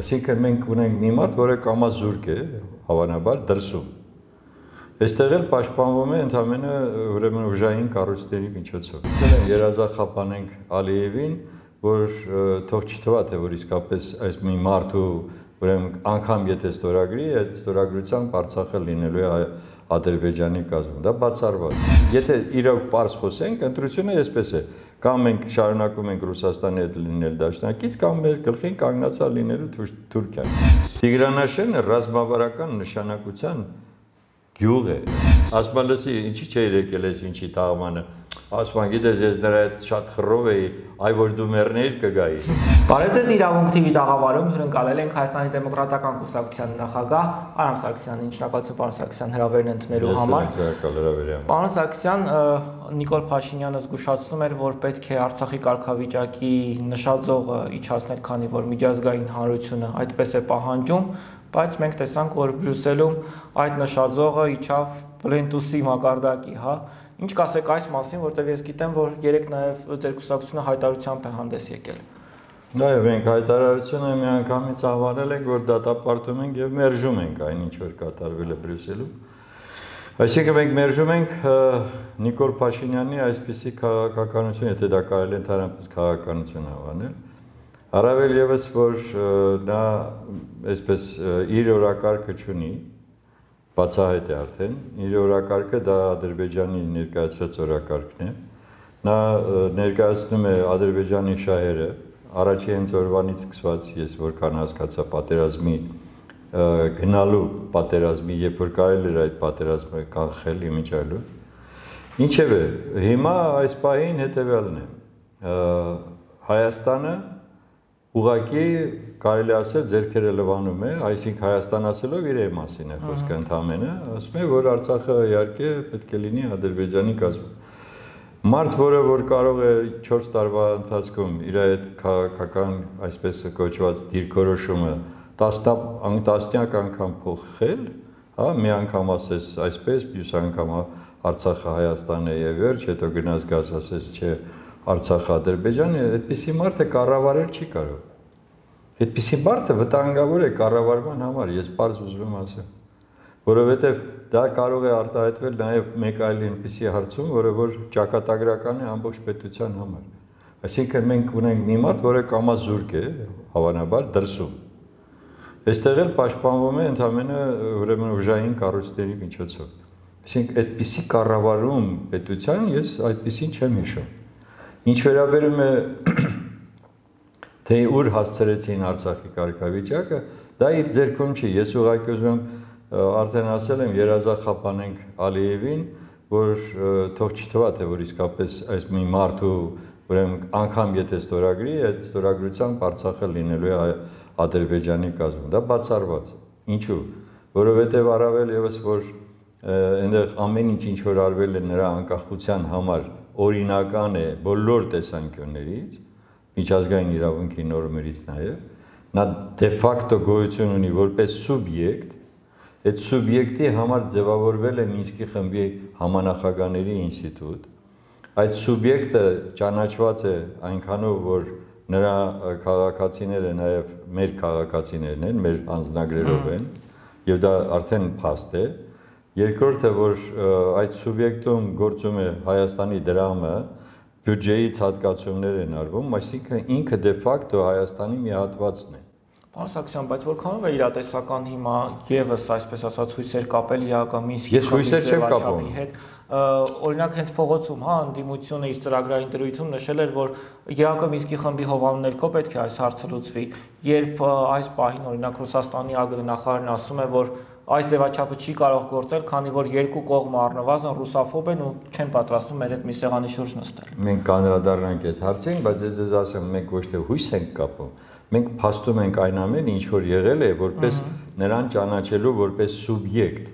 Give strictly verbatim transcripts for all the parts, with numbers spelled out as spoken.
Այսինքն մենք ունենք մի մարդ, որը կամազուրկ է, հավանաբար դրսում։ Այստեղ էլ պաշտպանվում է ընդամենը ուրեմն ուժային կառույցների միջոցով։ Երազախապանենք Ալիևին, որ թող չթվա, թե որ իսկապես այս մի մարդու ուրեմն անգամ եթե ստորագրի, այդ ստորագրությամբ Արցախը լինելու է Ադրբեջանի կազմում, դա բացառված։ Եթե իրոք պարզ խոսենք, ընտրությունը այսպես է, կամ մենք շարունակում ենք Ռուսաստանի հետ լինել դաշնակից, կամ մեր գլխին կանգնածալ լինելու Թուրքիան։ Տիգրանաշենը ռազմավարական նշանակության գյուղ է։ Ասում լսի, ինչի՞ չէր եկել այս ինչի տաղմանը։ Ասում գիտես, ես նրա հետ շատ խռով էի, այ որ դու մեռնեիր կգայի։ Բարև ձեզ, Իրավունք թի վի տաղավարում հյուրընկալել ենք Հայաստանի դեմոկրատական կուսակցության նախագահ Արամ Սարգսյանին, շնորհակալություն պարոն Սարգսյան հրավերն ընդունելու համար։ Պարոն Սարգսյան, Նիկոլ Փաշինյանը զգուշացնում էր, որ պետք է Արցախի կարգավիճակի նշաձողը իջացնել, քանի որ միջազգային հանրությունը այդպես է պահանջում, բայց մենք տեսանք, որ Բրյուսելում այդ նշաձողը իջավ պլենտուսի մակարդակի, հա։ Ինչ կասեք այս մասին, որտեղ ես գիտեմ, որ երեք նաև ձեր կուսակցությունը հայտարարությամբ է հանդես եկել։ Նաև մենք հայտարարությունը միանգամից անվանել ենք, որ դատապարտում ենք եւ մերժում ենք այն ինչ որ կատարվել է Բրյուսելում։ Այսինքն մենք մերժում ենք Նիկոլ Փաշինյանի այսպիսի քաղաքականություն, եթե դա կարելի է ընդհանրապես քաղաքականություն անվանել, առավել եւս որ նա այսպես իր օրակարգը չունի, բացահայտ է արդեն, իր օրակարգը դա Ադրբեջանի ներկայացրած օրակարգն է, նա ներկայացնում է Ադրբեջանի շահերը, առաջին օրվանից սկսված ես որքան հասկացա պատերազմի գնալու պատերազմի, երբ որ կարելի էր այդ պատերազմը կանխել իմիջիալուց։ Ինչևէ, հիմա այս պահին հետևյալն է, Հայաստանը ուղղակի կարելի ասել ձեռքերը լվանում է, այսինքն Հայաստան ասելով իր մասին է խոսքը ընդամենը, ասում է, որ Արցախը իհարկե պետք է լինի Ադրբեջանի կազմում։ Մարդ, որը որ կարող է չորս տարվա ընթացքում իր այդ քաղաքական, այսպես կոչված դիրքորոշումը տասնյակ անգամ փոխել, հա, մի անգամ ասես այսպես, մյուս անգամ Արցախը Հայաստան է եւ վերջ, հետո գնաց գազ ասես չէ Արցախը Ադրբեջան է, այդպիսի մարդը կառավարել չի կարող։ Այդպիսի մարդը վտանգավոր է կառավարման համար, ես պարզ ուզում եմ ասել, որովհետև դա կարող է արտահայտվել նաև մեկ այլ այնպիսի հարցում, որը որ ճակատագրական է ամբողջ պետության համար։ Այսինքն մենք ունենք մի մարդ, որը կամազուրկ է, հավանաբար դրսում։ Այստեղ էլ պաշտպանվում է ընդամենը ուրեմն ուժային կառույցների միջոցով։ Այսինքն այդպիսի կառավարում պետության ես այդպիսին չեմ հիշում։ Ինչ վերաբերում է թե ուր հասցրեցին Արցախի կարգավիճակը, դա իր ձեռքում չի։ Ես ուղղակի ուզում եմ արդեն ասել եմ երազախապանենք Ալիևին, որ թող չթվա, թե որ իսկապես այս մի մարդու ուրեմն անգամ եթե ստորագրի, այդ ստորագրությամբ Արցախը լինելու է Ադրբեջանի կազմում, դա բացառված է։ Ինչու՞։ Որովհետև առավել եւս որ այնտեղ ամեն ինչ ինչ որ արվել է նրա անկախության համար օրինական է բոլոր տեսանկյուններից, միջազգային իրավունքի նորմերից նաև, նա դե ֆակտո գոյություն ունի որպես սուբյեկտ, այդ սուբյեկտի համար ձևավորվել է Մինսկի խմբի համանախագահների ինստիտուտ, այդ սուբյեկտը ճանաչված է այնքանով, որ նրա քաղաքացիները նաև մեր քաղաքացիներն են, մեր անձնագրերով են, եւ դա արդեն փաստ է։ Երկրորդը, որ այդ սուբյեկտում գործում է Հայաստանի դրամը, բյուջեից հատկացումներ են արվում, այսինքն ինքը դե ֆակտո Հայաստանի մի հատվածն է։ Պարոն Սարգսյան, բայց որքանով է իրատեսական հիմա եւս այսպես ասած հույսեր կապել ԵԱԿ-ի Ես հույսեր չեմ կապում հետ։ Օրինակ հենց փողոցում, հա, ընդդիմությունը իր ծրագրային դրույթում նշել էր, որ ԵԱԿ-ի խմբի հովանու ներքո պետք է այս հարցը լուծվի, երբ այս պահին օրինակ Ռուսաստանի ԱԳ-նախարարն ասում է, որ այս ձևաչափը չի կարող գործել, քանի որ երկու կողմը առնվազն ռուսաֆոբ են ու չեն պատրաստվում մեր հետ մի սեղանի շուրջ նստել։ Մենք կանդրադառնանք այդ հարցին, բայց ես ձեզ ասեմ, մենք ոչ թե հույս ենք կապում, մենք փաստում ենք այն ամենը, ինչ որ եղել է, որպես նրան ճանաչելու որպես սուբյեկտ։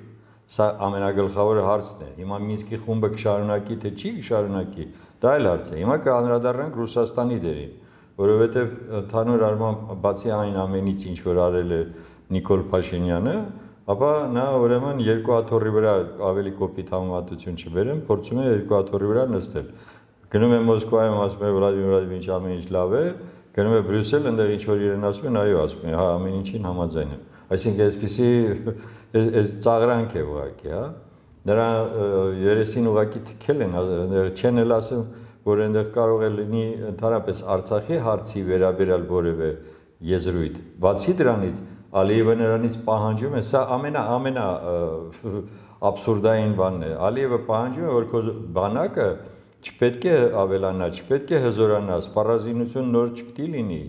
Սա ամենագլխավորը հարցն է։ Հիմա Մինսկի խումբը կշարունակի թե չի շարունակի, դա այլ հարց է։ Հիմա կանդրադառնանք Ռուսաստանի դերին, որովհետև ընդհանուր առմամբ բացի այն ամենից, ինչ որ արել է Նիկոլ Փաշինյանը, ապա նա ուրեմն երկու աթոռի վրա ավելի կոպիտ համեմատություն չբերեմ, փորձում է երկու աթոռի վրա նստել։ Գնում է Մոսկվայում, ասում է Վլադիմիր Վլադիմիրիչ ամեն ինչ լավ է, գնում է Բրյուսել, այնտեղ ինչ որ իրեն ասում են, այո, ասում են, հա, ամեն ինչին համաձայն եմ։ Այսինքն այսպեսի այս ծաղրանք է ուղղակի, հա։ Նրա երեսին ուղղակի թքել են, չեն էլ ասում, որ այնտեղ կարող է լինի ընդհանրապես Արցախի հարցի վերաբերյալ որևէ եզրույթ։ Բացի դրանից Ալիևը նրանից պահանջում է, սա ամենա ամենա աբսուրդային բանն է։ Ալիևը պահանջում է, որ քո բանակը չպետք է ավելանա, չպետք է հզորանա, սպառազինություն նոր չպետք է լինի։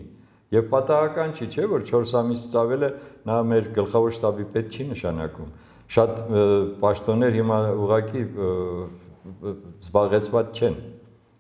Եվ պատահական չի, չէ, որ չորս ամիսից ավել է նա մեր գլխավոր շտաբի պետ չի նշանակում։ Շատ պաշտոններ հիմա ուղղակի զբաղեցված չեն։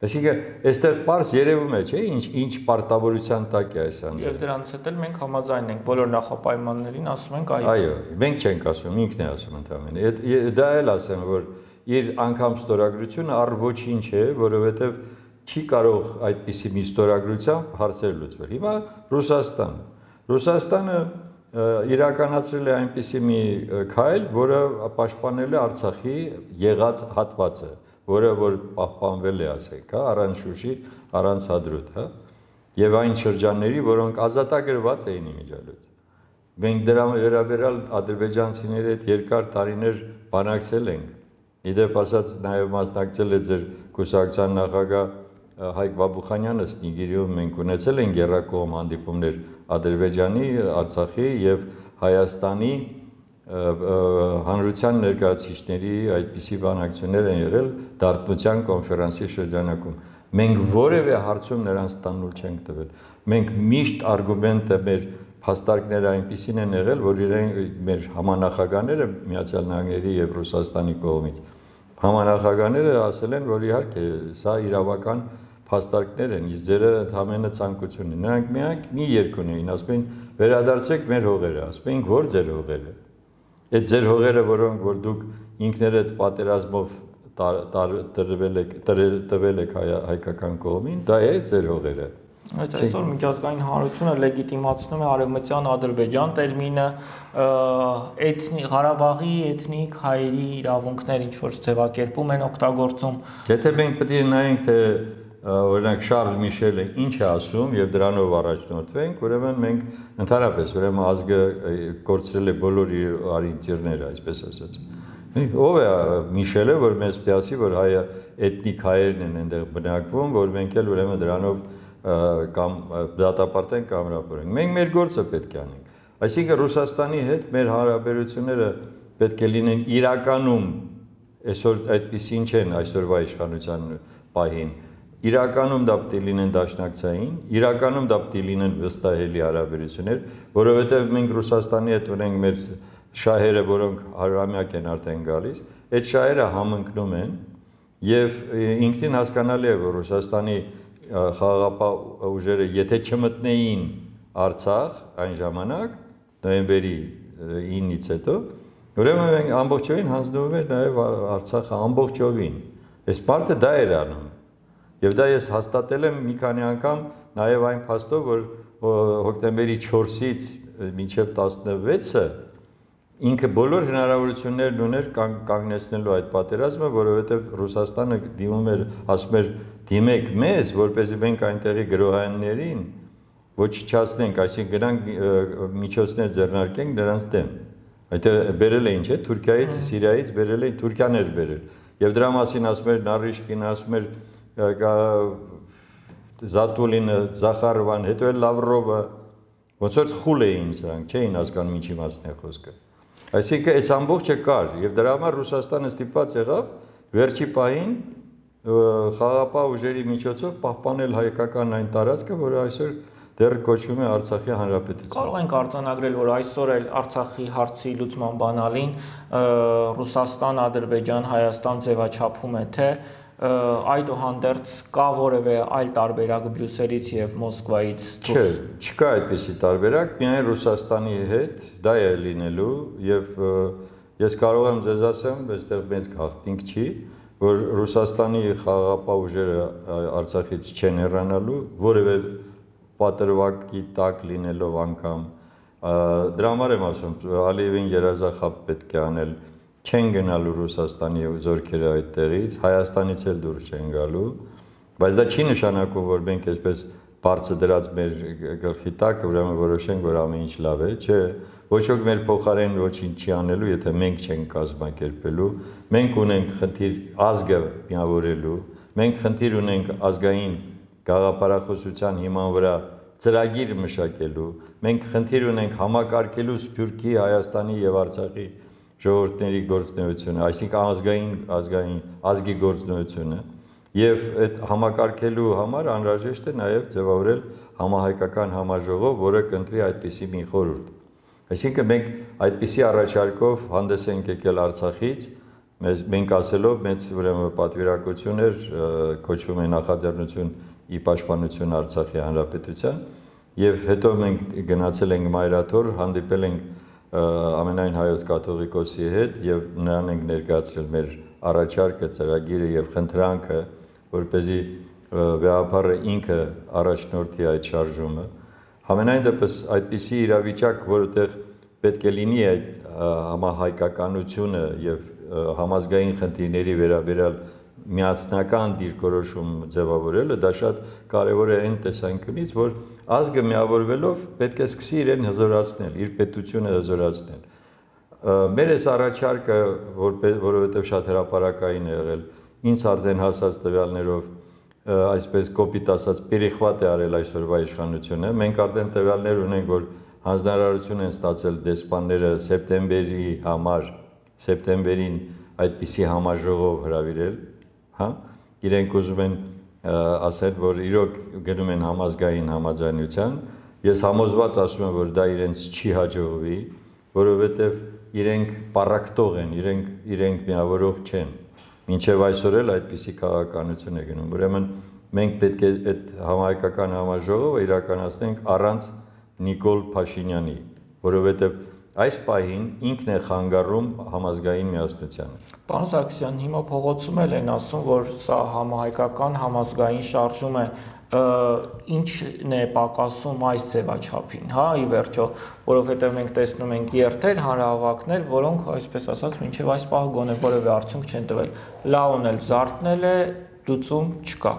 Այսինքն, այստեղ պարզ երևում է, չէ, ինչ ինչ պարտավորության տակ է այս անդր։ Եվ դրանից հետո մենք համաձայն ենք բոլոր նախապայմաններին, ասում ենք այո։ Այո, մենք չենք ասում, ինքն է ասում ընդհանրապես։ Դա էլ ասեմ, որ իր անգամ ստորագրությունը առ ոչինչ է, որովհետև չի կարող այդպիսի մի ստորագրությամբ հարցեր լուծվել։ Հիմա Ռուսաստան։ Ռուսաստանը իրականացրել է այնպիսի մի քայլ, որը պաշտպանել է Արցախի եղած հատվածը, որը որ պահպանվել է, ասենք, հա, առանց Շուշի, առանց Հադրութ, հա, եւ այն շրջանների, որոնք ազատագրված էին իմիջիալից։ Մենք դրա վերաբերյալ ադրբեջանցիների հետ երկար տարիներ բանակցել ենք։ Իդեպ ասած նաեւ մասնակցել է ձեր կուսակցության նախագահ Հայկ Բաբուխանյանը Սնիգիրիում մենք ունեցել ենք երրակողմ հանդիպումներ Ադրբեջանի, Արցախի եւ Հայաստանի հանրության ներկայացուցիչների այդպիսի բանակցություններ են եղել Դարբնության կոնֆերանսի շրջանակում։ Մենք որևէ հարցում նրանց տանուլ չենք տվել։ Մենք միշտ արգումենտը մեր փաստարկները այնպիսին են եղել, որ իրենք մեր համանախագահները Միացյալ Նահանգների եւ Ռուսաստանի կողմից համանախագահները ասել են, որ իհարկե սա իրավական փաստարկներ են, իսկ ձերը ընդհանրապես ցանկություն են։ Նրանք միակ մի երկ ունեին, ասում են վերադարձեք մեր հողերը, ասում են որ ձեր հողերը։ Այդ ձեր հողերը, որոնք որ դուք ինքներդ պատերազմով տրվել եք, տվել եք հայկական կողմին, դա է ձեր հողերը։ Այդ այսօր միջազգային հանրությունը լեգիտիմացնում է արևմտյան Ադրբեջան տերմինը, էթնիկ Ղարաբաղի էթնիկ հայերի իրավունքներ ինչ որ ձևակերպում են օգտագործում։ Եթե մենք պետք է նայենք, թե օրինակ Շարլ Միշելը ինչ է ասում եւ դրանով առաջնորդվենք, ուրեմն մենք ընդհանրապես ուրեմն ազգը կորցրել է բոլոր իր արինտիրները, այսպես ասած։ Ով է Միշելը, որ մեզ պետք է ասի, որ հայը էթնիկ հայերն են այնտեղ բնակվում, որ մենք էլ ուրեմն դրանով կամ դատապարտենք կամ հրապարենք։ Մենք մեր գործը պետք է անենք։ Այսինքն Ռուսաստանի հետ մեր հարաբերությունները պետք է լինեն իրականում այսօր այդպեսին չեն այսօրվա իշխանության պահին։ Իրականում դա պետք է լինեն դաշնակցային, իրականում դա պետք է լինեն վստահելի հարաբերություններ, որովհետև մենք Ռուսաստանի հետ ունենք մեր շահերը, որոնք հարյուրամյակ են արդեն գալիս, այդ շահերը համընկնում են եւ ինքնին հասկանալի է, որ Ռուսաստանի խաղաղապահ ուժերը եթե չմտնեին Արցախ այն ժամանակ նոյեմբերի ինից հետո ուրեմն մենք ամբողջովին հանձնվում էր նաև Արցախը ամբողջովին այս parte դա էր անում եւ դա ես հաստատել եմ մի քանի անգամ նաև այն փաստով որ հոկտեմբերի չորսից մինչև տասնվեցը ինքը բոլոր հնարավորություններն ուներ կանգնեցնելու այդ պատերազմը, որովհետև Ռուսաստանը դիմում էր, ասում էր դիմեք մեզ, որպեսզի մենք այնտեղի գրոհայիններին ոչնչացնենք, այսինքն գնանք միջոցներ ձեռնարկենք նրանց դեմ։ Այդտեղ բերել էին, չէ՞, Թուրքիայից, Սիրիայից բերել էին, Թուրքիան էր բերել։ Եվ դրա մասին ասում էր Նարիշկին, ասում էր Զատուլինը, Զախարովան, հետո էլ Լավրովը, ոնց որ խուլ էին սրանք, չէին հասկանում ինչի մասն է խոսքը։ Այսինքն այս ամբողջը կար եւ դրա համար Ռուսաստանը ստիպված եղավ վերջի պահին խաղաղապահ ուժերի միջոցով պահպանել հայկական այն տարածքը, որը այսօր դեռ կոչվում է Արցախի հանրապետություն։ Կարող ենք արձանագրել, որ այսօր էլ Արցախի հարցի լուծման բանալին Ռուսաստան, Ադրբեջան, Հայաստան ձևաչափում է, թե այդուհանդերձ կա որևէ այլ տարբերակ Բրյուսելից եւ Մոսկվայից դուրս։ Չէ, չկա այդպիսի տարբերակ, միայն Ռուսաստանի հետ դա է լինելու եւ ես կարող եմ ձեզ ասեմ, այստեղ մեծ գաղտնիք չի, որ Ռուսաստանի խաղաղապահ ուժերը Արցախից չեն հեռանալու, որևէ պատրվակի տակ լինելով անգամ դրա համար եմ ասում, Ալիևին երազախապ պետք է անել, չեն գնալու Ռուսաստանի զորքերը այդտեղից, Հայաստանից էլ դուրս չեն գալու, բայց դա չի նշանակում, որ մենք այսպես բարձր դրած մեր գլխի տակ, ուրեմն որոշենք, որ ամեն ինչ լավ է, չէ, ոչ ոք մեր փոխարեն ոչինչ չի անելու, եթե մենք չենք կազմակերպելու, մենք ունենք խնդիր ազգը միավորելու, մենք խնդիր ունենք ազգային գաղափարախոսության հիման վրա ծրագիր մշակելու, մենք խնդիր ունենք համակարգելու Սփյուռքի, Հայաստանի եւ Արցախի ժողովուրդների գործունեությունը, այսինքն ազգային ազգային ազգի գործունեությունը եւ այդ համակարգելու համար անհրաժեշտ է նաեւ ձևավորել համահայկական համաժողով, որը կընտրի այդպիսի մի խորհուրդ։ Այսինքն մենք այդպիսի առաջարկով հանդես ենք եկել Արցախից, մենք ասելով մեծ ուրեմն պատվիրակություն էր, կոչվում է նախաձեռնություն ի պաշտպանություն Արցախի հանրապետության, եւ հետո մենք գնացել ենք Մայրաթոր, հանդիպել ենք ամենայն հայոց կաթողիկոսի հետ եւ նրան ենք ներկայացրել մեր առաջարկը, ծրագիրը եւ խնդրանքը, որպեսզի վեհապարը ինքը առաջնորդի այդ շարժումը։ Համենայն դեպս այդպիսի իրավիճակ, որտեղ պետք է լինի այդ համահայկականությունը եւ համազգային խնդիրների վերաբերյալ միասնական դիրքորոշում ձևավորելը, դա շատ կարևոր է այն տեսանկյունից, որ ազգը միավորվելով պետք է սկսի իրեն հզորացնել, իր պետությունը հզորացնել։ Մեր այս առաջարկը, որովհետև շատ հրապարակային է եղել, ինձ արդեն հասած տվյալներով, այսպես կոպիտ ասած, պերիխվատ է արել այսօրվա իշխանությունը։ Մենք արդեն տվյալներ ունենք, որ հանձնարարություն են ստացել դեսպանները սեպտեմբերի համար, սեպտեմբերին այդպիսի համաժողով հրավիրել, հա, իրենք ուզում են ասել, որ իրոք գնում են համազգային համաձայնության, ես համոզված ասում եմ, որ դա իրենց չի հաջողվի, որովհետև իրենք պառակտող են, իրենք, իրենք միավորող չեն, մինչև այսօր էլ այդպիսի քաղաքականություն է գնում, ուրեմն մենք պետք է այդ համահայկական համաժողովը իրականացնենք առանց Նիկոլ Փաշինյանի, որովհետև այս պահին ինքն է խանգարում համազգային միասնությանը։ Պարոն Սարգսյան, հիմա փողոցում էլ են ասում, որ սա համահայկական համազգային շարժում է, ինչն է պակասում այս ձևաչափին, հա, ի վերջո, որովհետև մենք տեսնում ենք երթեր, հանրահավաքներ, որոնք, այսպես ասած, մինչև այս պահը գոնե որևէ արդյունք չեն տվել։ Լաուն էլ զարթնել է, լուծում չկա։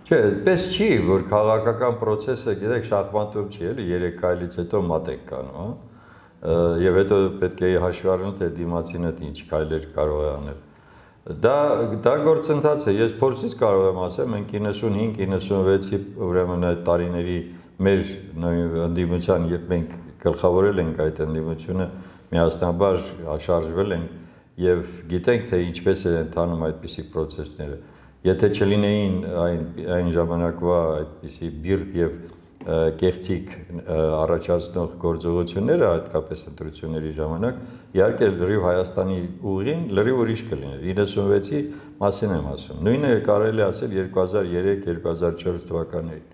Չէ, այդպես չի, որ քաղաքական process-ը, գիտեք, շախմատով չի, էլի երեք քայլից հետո մատ եք կանում, հա։ Եվ հետո պետք է հաշվի առնել, թե դիմացինը ինչ քայլեր կարող է անել։ Դա դա գործընթաց է, ես փորձից կարող եմ ասել, մենք իննսունհինգ իննսունվեցի ուրեմն այդ տարիների մեր ընդդիմության, երբ մենք գլխավորել ենք այդ ընդդիմությունը, միասնաբար շարժվել ենք եւ գիտենք, թե ինչպես է ընթանում այդպիսի process-ները։ Եթե չլինեին այն այն ժամանակվա այդպիսի բիրտ եւ կեղծիք առաջացնող գործողությունները, հատկապես ընտրությունների ժամանակ, իհարկե լրիվ Հայաստանի ուղին լրիվ ուրիշ կլիներ։ իննսունվեցի մասին եմ ասում։ Նույնը կարելի է ասել երկու հազար երեք երկու հազար չորս թվականներին։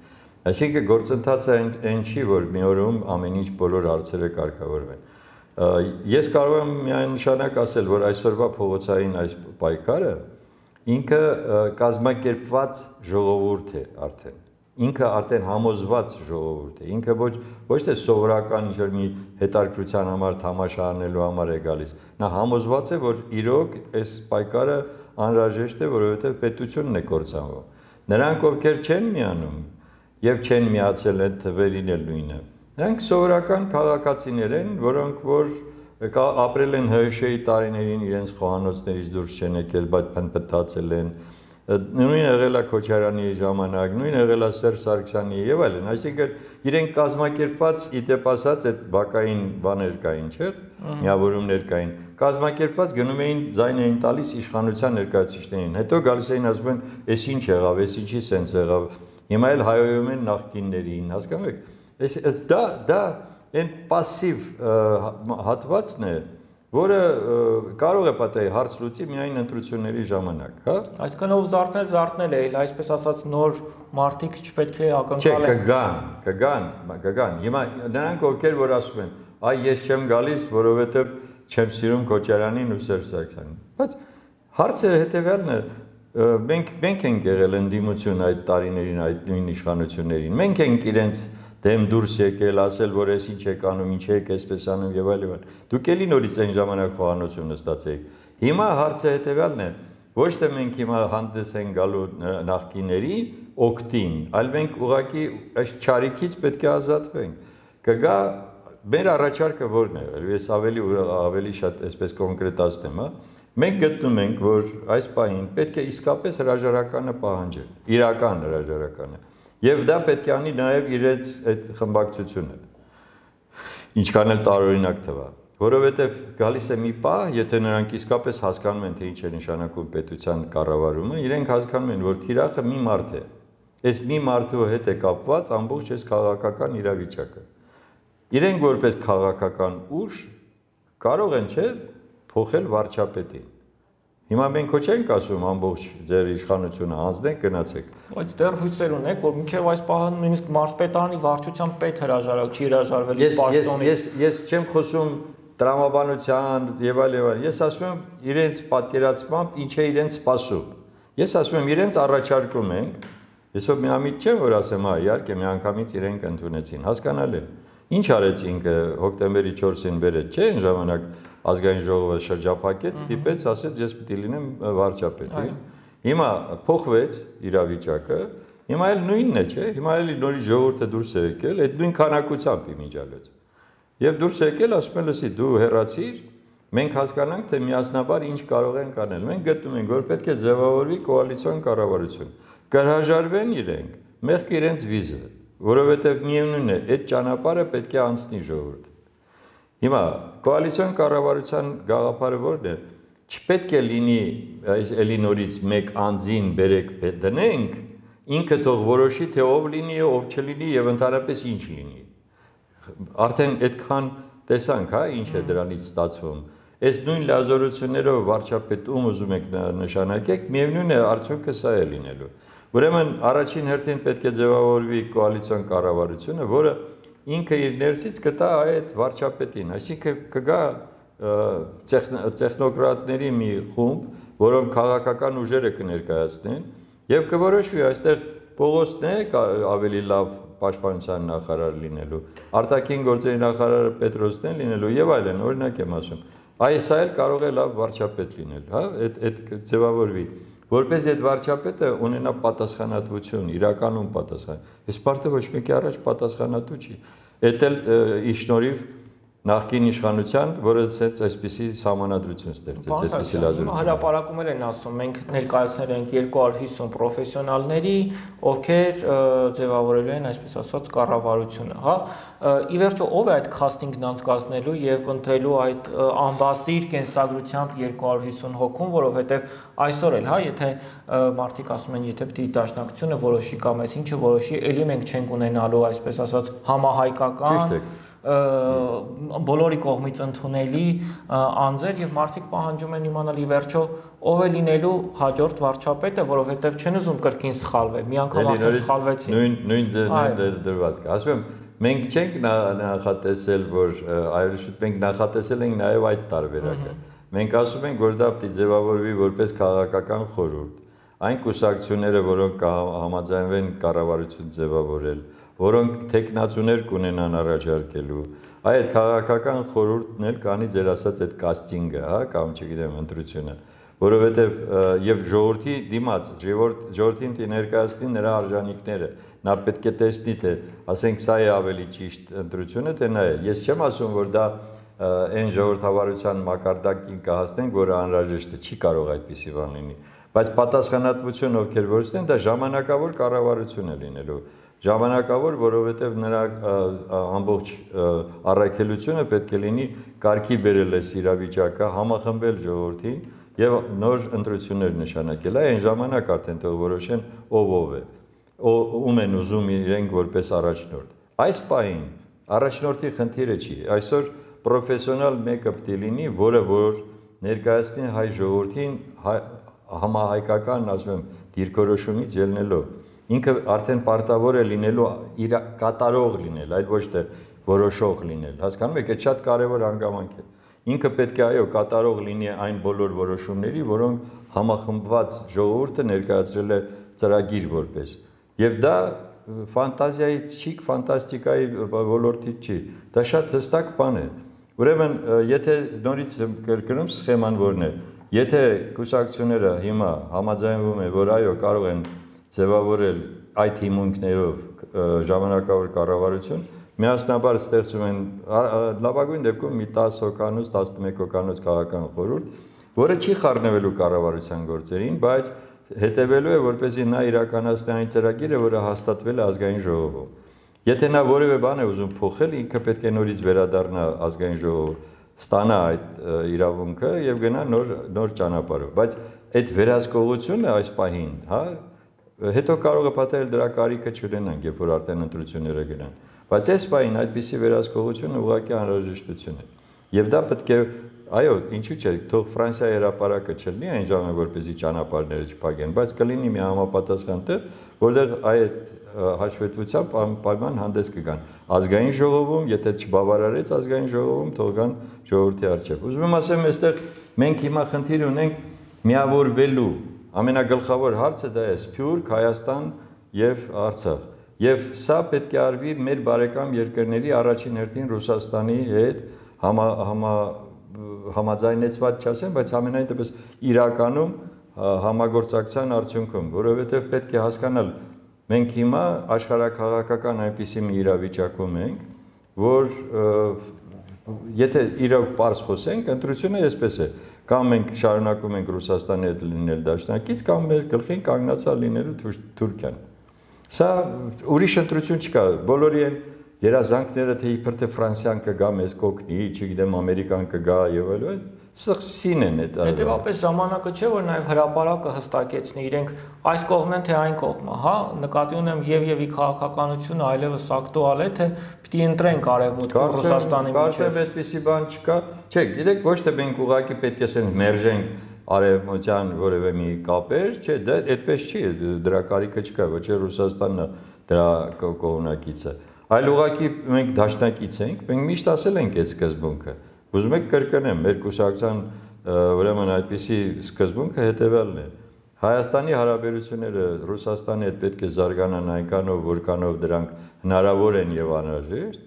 Այսինքն գործընթացը այն չի, որ մի օրում ամեն ինչ բոլոր հարցերը կարգավորվեն։ Ես կարող եմ միանշանակ ասել, որ այսօրվա փողոցային այս պայքարը ինքը կազմակերպված ժողովուրդ է արդեն։ Ինքը արդեն համոզված ժողովուրդ է, ինքը ոչ ոչ թե սովորական ինչ-որ մի հետաքրքրության համար թամաշա անելու համար է գալիս, նա համոզված է, որ իրոք այս պայքարը անհրաժեշտ է, որովհետև պետությունն է կործանվում։ Նրանք, ովքեր չեն միանում եւ չեն միացել այդ թվերին էլ նույնը, նրանք սովորական քաղաքացիներ են, որոնք որ ապրել են ՀՀՇ-ի տարիներին, իրենց խոհանոցներից դուրս չեն եկել, բայց փնփթացել են։ Նույն եղել է Քոչարյանի ժամանակ, նույն եղել է Սերժ Սարգսյանի եւ այլն, այսինքն իրենք կազմակերպված իդեպ ասած այդ բակային բաներ կային, չէ՞, միավորումներ կային, կազմակերպված գնում էին ձայն էին տալիս իշխանության ներկայացուցիչներին, հետո գալիս էին ասում են, «Էս ինչ եղավ, էս ինչի սենց եղավ», հիմա էլ հայոյում են նախկիններին, հասկանում եք, այս դա դա այն пассив հատվածն է, որը կարող է պատահի հարց լուծի միայն ընտրությունների ժամանակ, հա? Այսինքն ով զարթնել, զարթնել է, այսպես ասած նոր մարդիկ չպետք է ակնկալեն։ Չէ, կգան, կգան, կգան։ Հիմա նրանք ովքեր որ ասում են, այ ես չեմ գալիս, որովհետև չեմ սիրում Քոչարյանին ու Սերժ Սարգսյանին։ Բայց հարցը հետևյալն է, մենք մենք ենք եղել ընդդիմություն այդ տարիներին, այդ նույն իշխանություններին։ Մենք ենք իրենց դեմ դուրս եկել, ասել, որ ես ինչ եք անում, ինչ եք այսպես անում եւ այլն։ Դուք էլի նորից այն ժամանակ խոհանոցում նստացեք։ Հիմա հարցը հետեւյալն է, ոչ թե մենք հիմա հանդես ենք գալու նախկիների, օկտին, այլ մենք ուղղակի այս չարիքից պետք է ազատվենք։ Կգա մեր առաջարկը որն է, ես ավելի ավելի շատ այսպես կոնկրետացնեմ, հա։ Մենք գտնում ենք, որ այս պահին պետք է իսկապես հրաժարականը պահանջել, իրական հրաժարականը։ Եվ դա պետք է անի նաև իրենց այդ խմբակցությունը։ Ինչքան էլ տարօրինակ թվա, որովհետև գալիս է մի պահ, եթե նրանք իսկապես հասկանում են, թե ինչ է նշանակում պետության կառավարումը, իրենք հասկանում են, որ թիրախը մի մարդ է։ Այս մի մարդու հետ է կապված ամբողջ այս քաղաքական իրավիճակը։ Իրենք որպես քաղաքական ուժ կարող են, չէ՞, փոխել վարչապետին։ Հիմա մենք ոչ ենք ասում ամբողջ ձեր իշխանությունը անձնեք գնացեք։ Բայց դեռ հույսեր ունեք, որ մինչև այս պահը նույնիսկ մարզպետարանի վարչության պետ հրաժարակ չի հրաժարվել պաշտոնից։ Ես ես չեմ խոսում տրամաբանության եւ այլ եւ այլ։ Ես ասում եմ իրենց պատկերացմամբ ինչ է իրենց սպասում։ Ես ասում եմ իրենց առաջարկում ենք։ Ես ո՞վ միամիտ չեմ որ ասեմ, հա, իհարկե միանգամից իրենք ընդունեցին։ Հասկանալի է։ Ինչ արեց ինքը հոկտեմբերի չորսին բերեց, չէ՞, այն ժամանակ ազգային ժողովը շրջափակեց, ստիպեց, ասեց ես պիտի լինեմ վարչապետ։ Հիմա փոխվեց իրավիճակը, հիմա էլ նույնն է, չէ՞, հիմա էլ նորից ժողովուրդը դուրս է եկել, այդ նույն քանակությամբ իմիջալոց։ Եվ դուրս է եկել, ասում են, լսի, դու հեռացիր, մենք հասկանանք, թե միասնաբար ինչ կարող են կանել։ Մենք գտնում ենք, որ պետք է ձևավորվի կոալիցիոն կառավարություն։ Կհրաժարվեն իրենք, մեղք իրենց վիզը, որովհետև միևնույն է, այդ ճանապարհը պետք է անցնի ժողովուրդ։ Հիմա կոալիցիոն կառավարության գաղափարը որն է, չպետք է լինի էլի նորից մեկ անձին բերեք դնենք, ինքը թող որոշի, թե ով լինի, ով չլինի եւ ընդհանրապես ինչ լինի։ Արդեն այդքան տեսանք, հա, ինչ է դրանից ստացվում։ Այս նույն լազորություններով վարչապետ ում ուզում եք նշանակեք, միևնույն է արդյունքը սա է լինելու։ Ուրեմն առաջին հերթին պետք է ձևավորվի կոալիցիոն կառավարությունը, որը ինքը իր ներսից կտա այդ վարչապետին, այսինքն կգա տեխնոկրատների մի խումբ, որոնք քաղաքական ուժերը կներկայացնեն եւ կորոշվի այստեղ Պողոսն է ավելի լավ պաշտպանության նախարար լինելու, արտաքին գործերի նախարարը Պետրոսն է լինելու եւ այլն, օրինակ եմ ասում։ Այս այլ կարող է լավ վարչապետ լինել, հա, այդ այդ ձևավորվի, որպես այդ վարչապետը ունենա պատասխանատվություն, իրականում պատասխան։ Այս պարտը ոչ մեկի առաջ պատասխանատու չի։ Էդ էլ իշնորհիվ նախկին իշխանության, որը այսպիսի համանadrություն ստեղծեց, այսպիսի լազերություն։ Հրապարակում են ասում, մենք ներկայացնել ենք երկու հարյուր հիսուն պրոֆեսիոնալների, ովքեր ձևավորելու են, այսպես ասած, կառավարությունը, հա։ Ի վերջո, ով է այդ քաստինգն անցկացնելու եւ ընտրելու այդ ամբասիր կենսագրությամբ երկու հարյուր հիսուն հոգուն, որովհետեւ այսօր էլ, հա, եթե մարդիկ ասում են, եթե պիտի դաշնակցությունը որոշի կամ այս ինչը որոշի, ելի մենք չենք ունենալու, այսպես ասած, համահայկական բոլորի կողմից ընդունելի անձեր եւ մարդիկ պահանջում են իմանալ ի վերջո ով է լինելու հաջորդ վարչապետը, որովհետեւ չեն ուզում կրկին սխալվել, մի անգամ արդեն սխալվեցին։ Նույն նույն դրվածք։ Ասում եմ, մենք չենք նախատեսել, որ այլ շուտ մենք նախատեսել ենք նաեւ այդ տարբերակը։ Մենք ասում ենք, որ դա պիտի ձևավորվի որպես քաղաքական խորհուրդ։ Այն կուսակցությունները, որոնք համաձայնվեն կառավարություն ձևավորել, որոնք տեխնացուներ կունենան առաջարկելու, այդ քաղաքական խորհուրդն էլ կանի ձեր ասած այդ կաստինգը, հա, կամ չգիտեմ, ընտրությունը, որովհետև եւ ժողովրդի դիմաց, ժողովրդին դի ներկայացնի նրա արժանինքները, նա պետք է տեսնի, թե ասենք սա է ավելի ճիշտ ընտրությունը, թե նա է։ Ես չեմ ասում, որ դա այն ժողովրդավարության մակարդակին կհասնենք, որը անհրաժեշտ է, չի կարող այդպիսի բան լինի, բայց պատասխանատվություն ովքեր որսնեն, դա ժամանակավոր կառավարություն է լինելու։ Ժամանակավոր, որովհետև նրա ամբողջ առաքելությունը պետք է լինի կարգի բերել այս իրավիճակը, համախմբել ժողովրդին եւ նոր ընտրություններ նշանակել։ Այն ժամանակ արդեն թող որոշեն ով ով է, ում են ուզում իրենք որպես առաջնորդ։ Այս պահին առաջնորդի խնդիրը չի։ Այսօր պրոֆեսիոնալ մեկը պետք է լինի, որը որ ներկայացնի հայ ժողովրդին համահայկական, ասում եմ, դիրքորոշումից ելնելով։ Ինքը արդեն պարտավոր է լինելու իր կատարող լինել, այլ ոչ թե որոշող լինել։ Հասկանում եք, այդ շատ կարևոր հանգամանք է։ Ինքը պետք է այո կատարող լինի այն բոլոր որոշումների, որոնք համախմբված ժողովուրդը ներկայացրել է ծրագիր որպես։ Եվ դա ֆանտազիայի չի, ֆանտաստիկայի ոլորտից չի։ Դա շատ հստակ բան է։ Ուրեմն, եթե նորից կրկնում սխեման որն է, եթե կուսակցությունները հիմա համաձայնվում են, որ այո կարող են ձևավորել այդ հիմունքներով ժամանակավոր կառավարություն միասնաբար ստեղծում են լավագույն դեպքում մի տասը հոկանոց, տասնմեկ հոկանոց քաղաքական խորհուրդ, որը չի խառնվելու կառավարության գործերին, բայց հետևելու է, որպեսզի նա իրականացնի այն ծրագիրը, որը հաստատվել է ազգային ժողովում։ Եթե նա որևէ բան է ուզում փոխել, ինքը պետք է նորից վերադառնա ազգային ժողով, ստանա այդ իրավունքը եւ գնա նոր նոր ճանապարհով, բայց այդ վերահսկողությունը այս պահին, հա, հետո կարող է պատահել դրա կարիքը չունենանք, երբ որ արդեն ընտրությունները գնան, բայց այս պահին այդպիսի վերահսկողությունը ուղղակի անհրաժեշտություն է։ Եվ դա պետք է, այո, ինչու՞ չէ, թող Ֆրանսիայի հրապարակը չլինի այն ժամանակ, որպեսզի ճանապարհները չփակեն, բայց կլինի մի համապատասխան տեղ, որտեղ այդ հաշվետվությամբ պայման հանդես կգան ազգային ժողովում, եթե չբավարարեց ազգային ժողովում, թող գան ժողովրդի առջև։ Ուզում եմ ասեմ, այստեղ մենք հիմա խնդիր ունենք միավորվելու, ամենագլխավոր հարցը դա է Սփյուռք, Հայաստան եւ Արցախ։ Եվ սա պետք է արվի մեր բարեկամ երկրների առաջին հերթին Ռուսաստանի հետ համա, համա, համաձայնեցված չասեմ, բայց ամենայն դեպս իրականում համագործակցության արդյունքում, որովհետև պետք է հասկանալ, մենք հիմա աշխարհաքաղաքական այնպիսի մի իրավիճակում ենք, որ եթե իրոք պարզ խոսենք, ընտրությունը այսպես է, կամ մենք շարունակում ենք Ռուսաստանի հետ լինել դաշնակից, կամ մեր գլխին կանգնածա լինելու Թուրքիան։ Սա ուրիշ ընտրություն չկա, բոլորի են երազանքները, թե իբր թե Ֆրանսիան կգա մեզ կօգնի, չգիտեմ Ամերիկան կգա եւ այլն, սխսին են այդ։ Հետևաբար ժամանակը չէ, որ նաեւ հրապարակը հստակեցնի, իրենք այս կողմն են թե այն կողմը, հա, նկատի ունեմ եւ եւի քաղաքականությունը այլևս ակտուալ է, թե պիտի ընտրենք արևմուտքը Ռուսաստանի միջեւ։ Կարծեմ այդպիսի բան չկա։ Չէ, գիտեք, ոչ թե մենք ուղղակի պետք է ասենք մերժենք արևմտյան որևէ մի կապեր, չէ, դա այդպես չի, դրա կարիքը չկա, ոչ է Ռուսաստանն դրա կողմնակիցը, այլ ուղղակի մենք դաշնակից ենք, մենք միշտ ասել ենք այդ սկզբունքը։ Ուզում եք կրկնեմ, մեր կուսակցության ուրեմն այդպիսի սկզբունքը հետևյալն է։ Հայաստանի հարաբերությունները Ռուսաստանի հետ պետք է զարգանան այնքանով, որքանով դրանք հնարավոր են եւ անհրաժեշտ։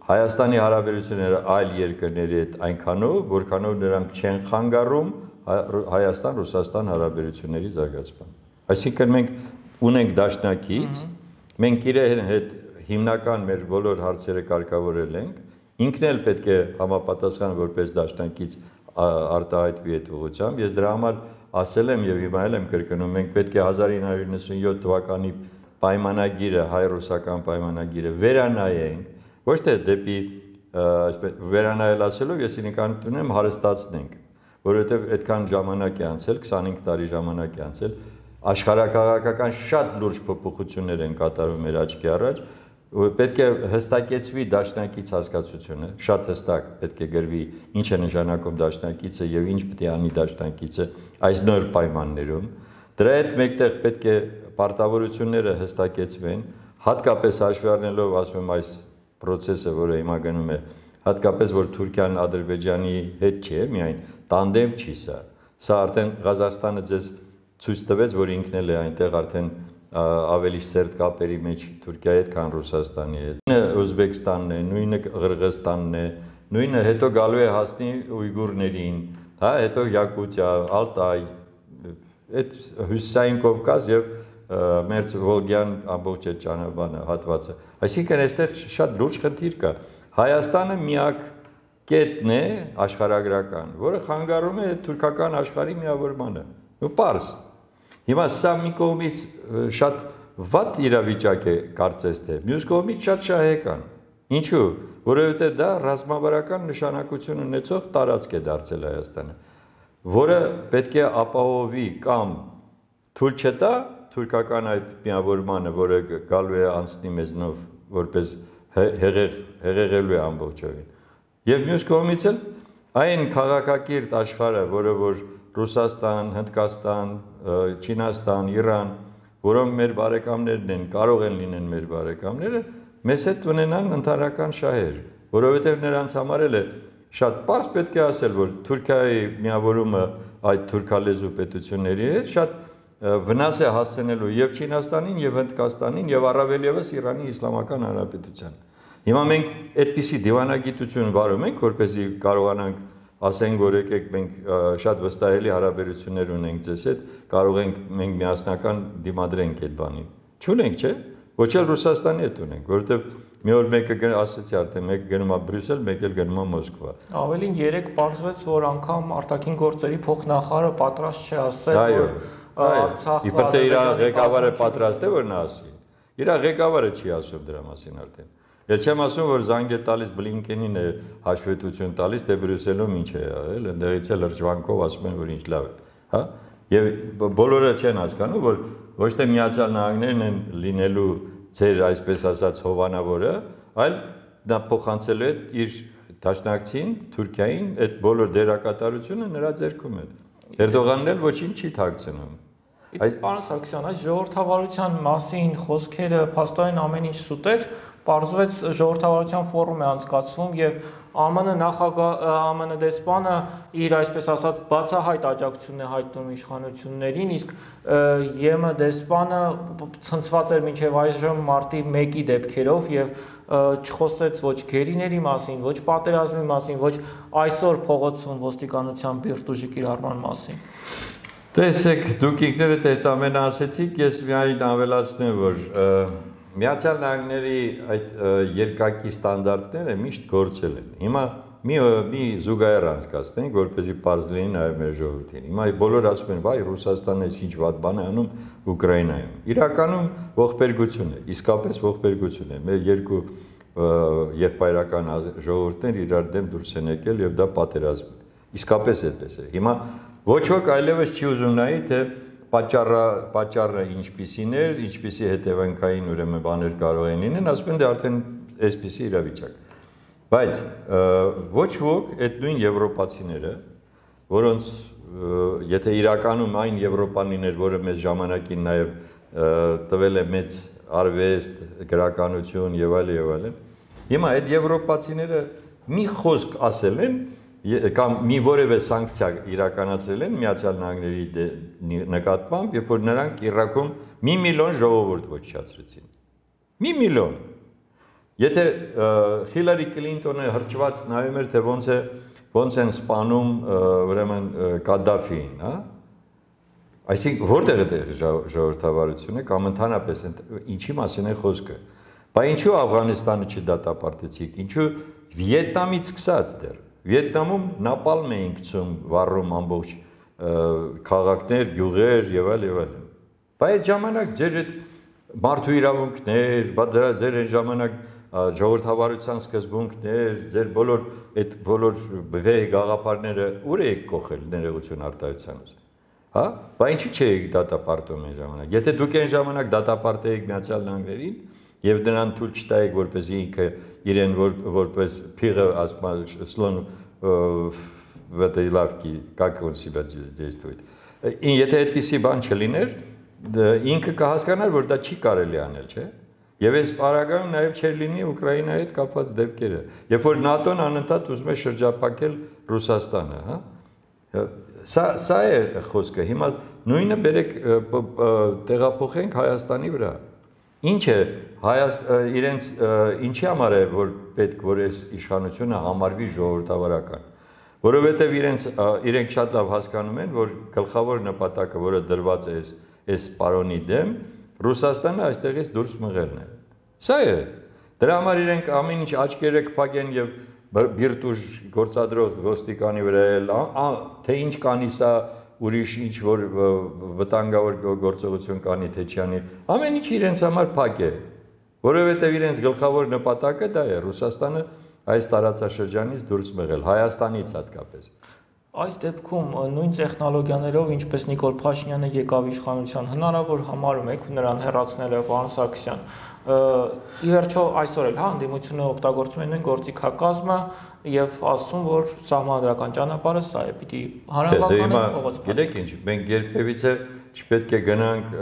Հայաստանի հարաբերությունները այլ երկրների հետ այնքանով, որքանով նրանք չեն խանգարում Հայաստան-Ռուսաստան հարաբերությունների զարգացման։ Այսինքն մենք ունենք դաշնակից, մենք իրեն հետ հիմնական մեր բոլոր հարցերը կարգավորել ենք, ինքն էլ պետք է համապատասխան որպես դաշնակից արտահայտվի այդ ուղղությամբ։ Ես դրա համար ասել եմ եւ հիմա էլ եմ կրկնում, մենք պետք է հազար ինը հարյուր նվսանյոթ թվականի պայմանագիրը, հայ-ռուսական պայմանագիրը վերանայենք, ոչ թե դեպի այսպես վերանայել ասելով ես ինքնին ունեմ հարստացնենք, որովհետև այդքան ժամանակ է անցել, քսանհինգ տարի ժամանակ է անցել, աշխարհակաղակական շատ լուրջ փոփոխություններ են կատարվում մեր աչքի առաջ, պետք է հստակեցվի դաշնակից հասկացությունը, շատ հստակ պետք է գրվի ինչ է նշանակում դաշնակիցը եւ ինչ պետք է անի դաշնակիցը այս նոր պայմաններում, դրա հետ մեկտեղ պետք է պարտավորությունները հստակեցվեն, հատկապես հաշվի առնելով, ասում եմ, այս process-ը, որը հիմա գնում է, հատկապես որ Թուրքիան Ադրբեջանի հետ չի, միայն տանդեմ չի սա։ Սա արդեն Ղազախստանը ձեզ ցույց տվեց, որ ինքն էլ է այնտեղ արդեն ավելի սերտ կապերի մեջ Թուրքիայի հետ, քան Ռուսաստանի հետ։ Նույնը Ուզբեկստանն է, նույնը Ղրղզստանն է, նույնը հետո գալու է հասնի ույգուրներին, հա, հետո Յակուտիա, Ալտայ, այդ Հյուսիսային Կովկաս եւ Մերձ Վոլգյան ամբողջ այդ ճանապարհը հատվածը։ Այսինքն այստեղ շատ լուրջ խնդիր կա։ Հայաստանը միակ կետն է աշխարհագրական, որը խանգարում է թուրքական աշխարհի միավորմանը։ Ու պարզ։ Հիմա սա մի կողմից շատ վատ իրավիճակ է կարծես թե, մյուս կողմից շատ շահեկան։ Ինչու՞, որովհետև դա ռազմավարական նշանակություն ունեցող տարածք է դարձել Հայաստանը, որը պետք է ապահովի կամ թույլ չտա թուրքական այդ միավորմանը, որը գալու է անցնի մեզնով որպես հեղեղ հեղեղելու է ամբողջովին։ Եվ մյուս կողմից էլ այն քաղաքակիրթ աշխարհը, որը որ Ռուսաստան, Հնդկաստան, Չինաստան, Իրան, որոնք մեր բարեկամներն են, կարող են լինեն մեր բարեկամները, մեզ հետ ունենան ընդհանրական շահեր, որովհետև նրանց համար էլ է շատ պարզ պետք է ասել, որ Թուրքիայի միավորումը այդ թուրքալեզու պետությունների հետ շատ վնաս է հասցնելու եւ Չինաստանին, եւ Հնդկաստանին, եւ առավել եւս Իրանի Իսլամական Հանրապետությանն։ Հիմա մենք այդպիսի դիվանագիտություն վարում ենք, որպեսզի կարողանանք ասենք, որ եկեք մենք շատ վստահելի հարաբերություններ ունենք ձեզ հետ, կարող ենք մենք միասնական դիմադրենք այդ բանին։ Չունենք, չէ՞։ Ոչ էլ Ռուսաստանի հետ ունենք, որովհետև մի օր մեկը ասեցի արդեն մեկը գնում է Բրյուսել, մեկը էլ գնում է Մոսկվա։ Ավելին երեք պարզվեց, որ անգամ արտաքին գործերի փոխնախարարը պատրաստ չէ ասել, որ Արցախը իբր թե իր ղեկավարը պատրաստ է որ նա ասի։ Իր ղեկավարը չի ասում դրա մասին արդեն։ Էլ չեմ ասում, որ զանգ է տալիս Բլինկենին է հաշվետվություն տալիս, թե Բրյուսելում ինչ է եղել, ընդդեղից էլ լրջվանքով ասում են, որ ինչ լավ է, հա։ Եվ բոլորը չեն հասկանում, որ ոչ թե Միացյալ Նահանգներն են լինելու ձեր այսպես ասած հովանավորը, այլ նա փոխանցելու է իր դաշնակցին, Թուրքիային, այդ բոլոր դերակատարությունը նրա ձեռքում է։ Էրդողանն էլ ոչինչ չի թաքցնում։ Պարոն Սարգսյան, այս ժողովրդավարության մասին խոսքերը փաստորեն ամեն ինչ սուտ էր, պարզվեց ժողովրդավարության ֆորում է անցկացվում եւ ԱՄՆ նախագահ ԱՄՆ դեսպանը իր այսպես ասած բացահայտ աջակցությունն է հայտնում իշխանություններին, իսկ ԵՄ դեսպանը ցնցված էր մինչև այժմ մարտի մեկի դեպքերով եւ չխոսեց ոչ գերիների մասին, ոչ պատերազմի մասին, ոչ այսօր փողոցում ոստիկանության բիրտուժի կիրառման մասին։ Տեսեք, դուք ինքներդ այդ ամենը ասեցիք, ես միայն ավելացնեմ, որ Միացյալ Նահանգների այդ երկակի ստանդարտները միշտ գործել են։ Հիմա մի մի զուգահեռ անցկացնենք, որպեսզի պարզ լինի նաև մեր ժողովրդին։ Հիմա բոլորը ասում են, վայ, Ռուսաստանը ինչ վատ բան է անում Ուկրաինայում։ Իրականում ողբերգություն է, իսկապես ողբերգություն է։ Մեր երկու եղբայրական ժողովուրդներ իրար դեմ դուրս են եկել եւ դա պատերազմ է։ Իսկապես այդպես է։ Հիմա ոչ ոք այլևս չի ուզում նայի, թե պատճառը պատճառը ինչպիսին էր, ինչպիսի հետևանքային ուրեմն բաներ կարող են լինել, ասում են դե արդեն այսպիսի իրավիճակ։ Բայց ոչ ոք այդ նույն եվրոպացիները, որոնց եթե իրականում այն Եվրոպան լիներ, որը մեծ ժամանակին նաև տվել է մեծ արվեստ, գրականություն եւ այլ եւ այլն, հիմա այդ եվրոպացիները մի խոսք ասել են կամ մի որևէ սանկցիա իրականացրել են Միացյալ Նահանգների նկատմամբ, երբ որ նրանք Իրաքում մի միլիոն ժողովուրդ ոչնչացրեցին։ Մի միլիոն։ Եթե Հիլարի Կլինտոնը հրճված նայում էր, թե ոնց է ոնց են սպանում ուրեմն Կադաֆիին, հա? Այսինքն որտեղ է ժողովրդավարությունը կամ ընդհանրապես ինչի մասին է խոսքը։ Բայց ինչու Աֆղանստանը չդատապարտեցիք, ինչու Վիետնամից սկսած դեռ Վիետնամում նապալմ էին գցում, վառում ամբողջ քաղաքներ, գյուղեր եւ այլ եւ այլն։ Բայց այդ ժամանակ ձեր այդ մարդու իրավունքներ, ձեր այն ժամանակ ժողովրդավարության սկզբունքներ, ձեր բոլոր այդ բոլոր վեհ գաղափարները ուր եք կողել ներողություն արտահայտությանից։ Հա? Բայց ինչի՞ չէիք դատապարտում այն ժամանակ։ Եթե դուք այն ժամանակ դատապարտեիք Միացյալ Նահանգներին եւ նրան թույլ չտայիք, որպեսզի ինքը իրեն որպես փիղը ասում слон в этой лавке, как он себя действует։ Եթե այդպիսի բան չլիներ, ինքը կհասկանար, որ դա չի կարելի անել, չէ՞։ Եվ այս պարագայում նաև չէր լինի Ուկրաինայի հետ կապված դեպքերը, երբ որ ՆԱՏՕ-ն անընդհատ ուզում է շրջափակել Ռուսաստանը, հա։ Սա սա է խոսքը։ Հիմա նույնը բերեք տեղափոխենք Հայաստանի վրա։ Ինչ է իրենց ինչի համար է որ պետք որ այս իշխանությունը համարվի ժողովրդավարական, որովհետև իրենց իրենք շատ լավ հասկանում են, որ գլխավոր նպատակը, որը դրված է այս այս պարոնի դեմ, Ռուսաստանը այստեղից դուրս մղելն է։ Սա է։ Դրա համար իրենք ամեն ինչ աչքերը կփակեն եւ բիրտուժ գործադրող ոստիկանի վրա էլ թե ինչ կանի սա ուրիշ ինչ որ վտանգավոր գործողություն կանի թե չանի, ամեն ինչ իրենց համար փակ է, որովհետև իրենց գլխավոր նպատակը դա է Ռուսաստանը այս տարածաշրջանից դուրս մղել, Հայաստանից հատկապես։ Այս դեպքում նույն տեխնոլոգիաներով, ինչպես Նիկոլ Փաշինյանը եկավ իշխանության, հնարավոր համարում եք նրան հեռացնելը, պարոն Սարգսյան։ Ի վերջո այսօր էլ հա ընդդիմությունը օգտագործում է նույն գործիքակազմը եւ ասում, որ սահմանադրական ճանապարհը սա է, պիտի հանրապետականը փողոց։ Գիտեք ինչ, մենք երբևիցե չպետք է գնանք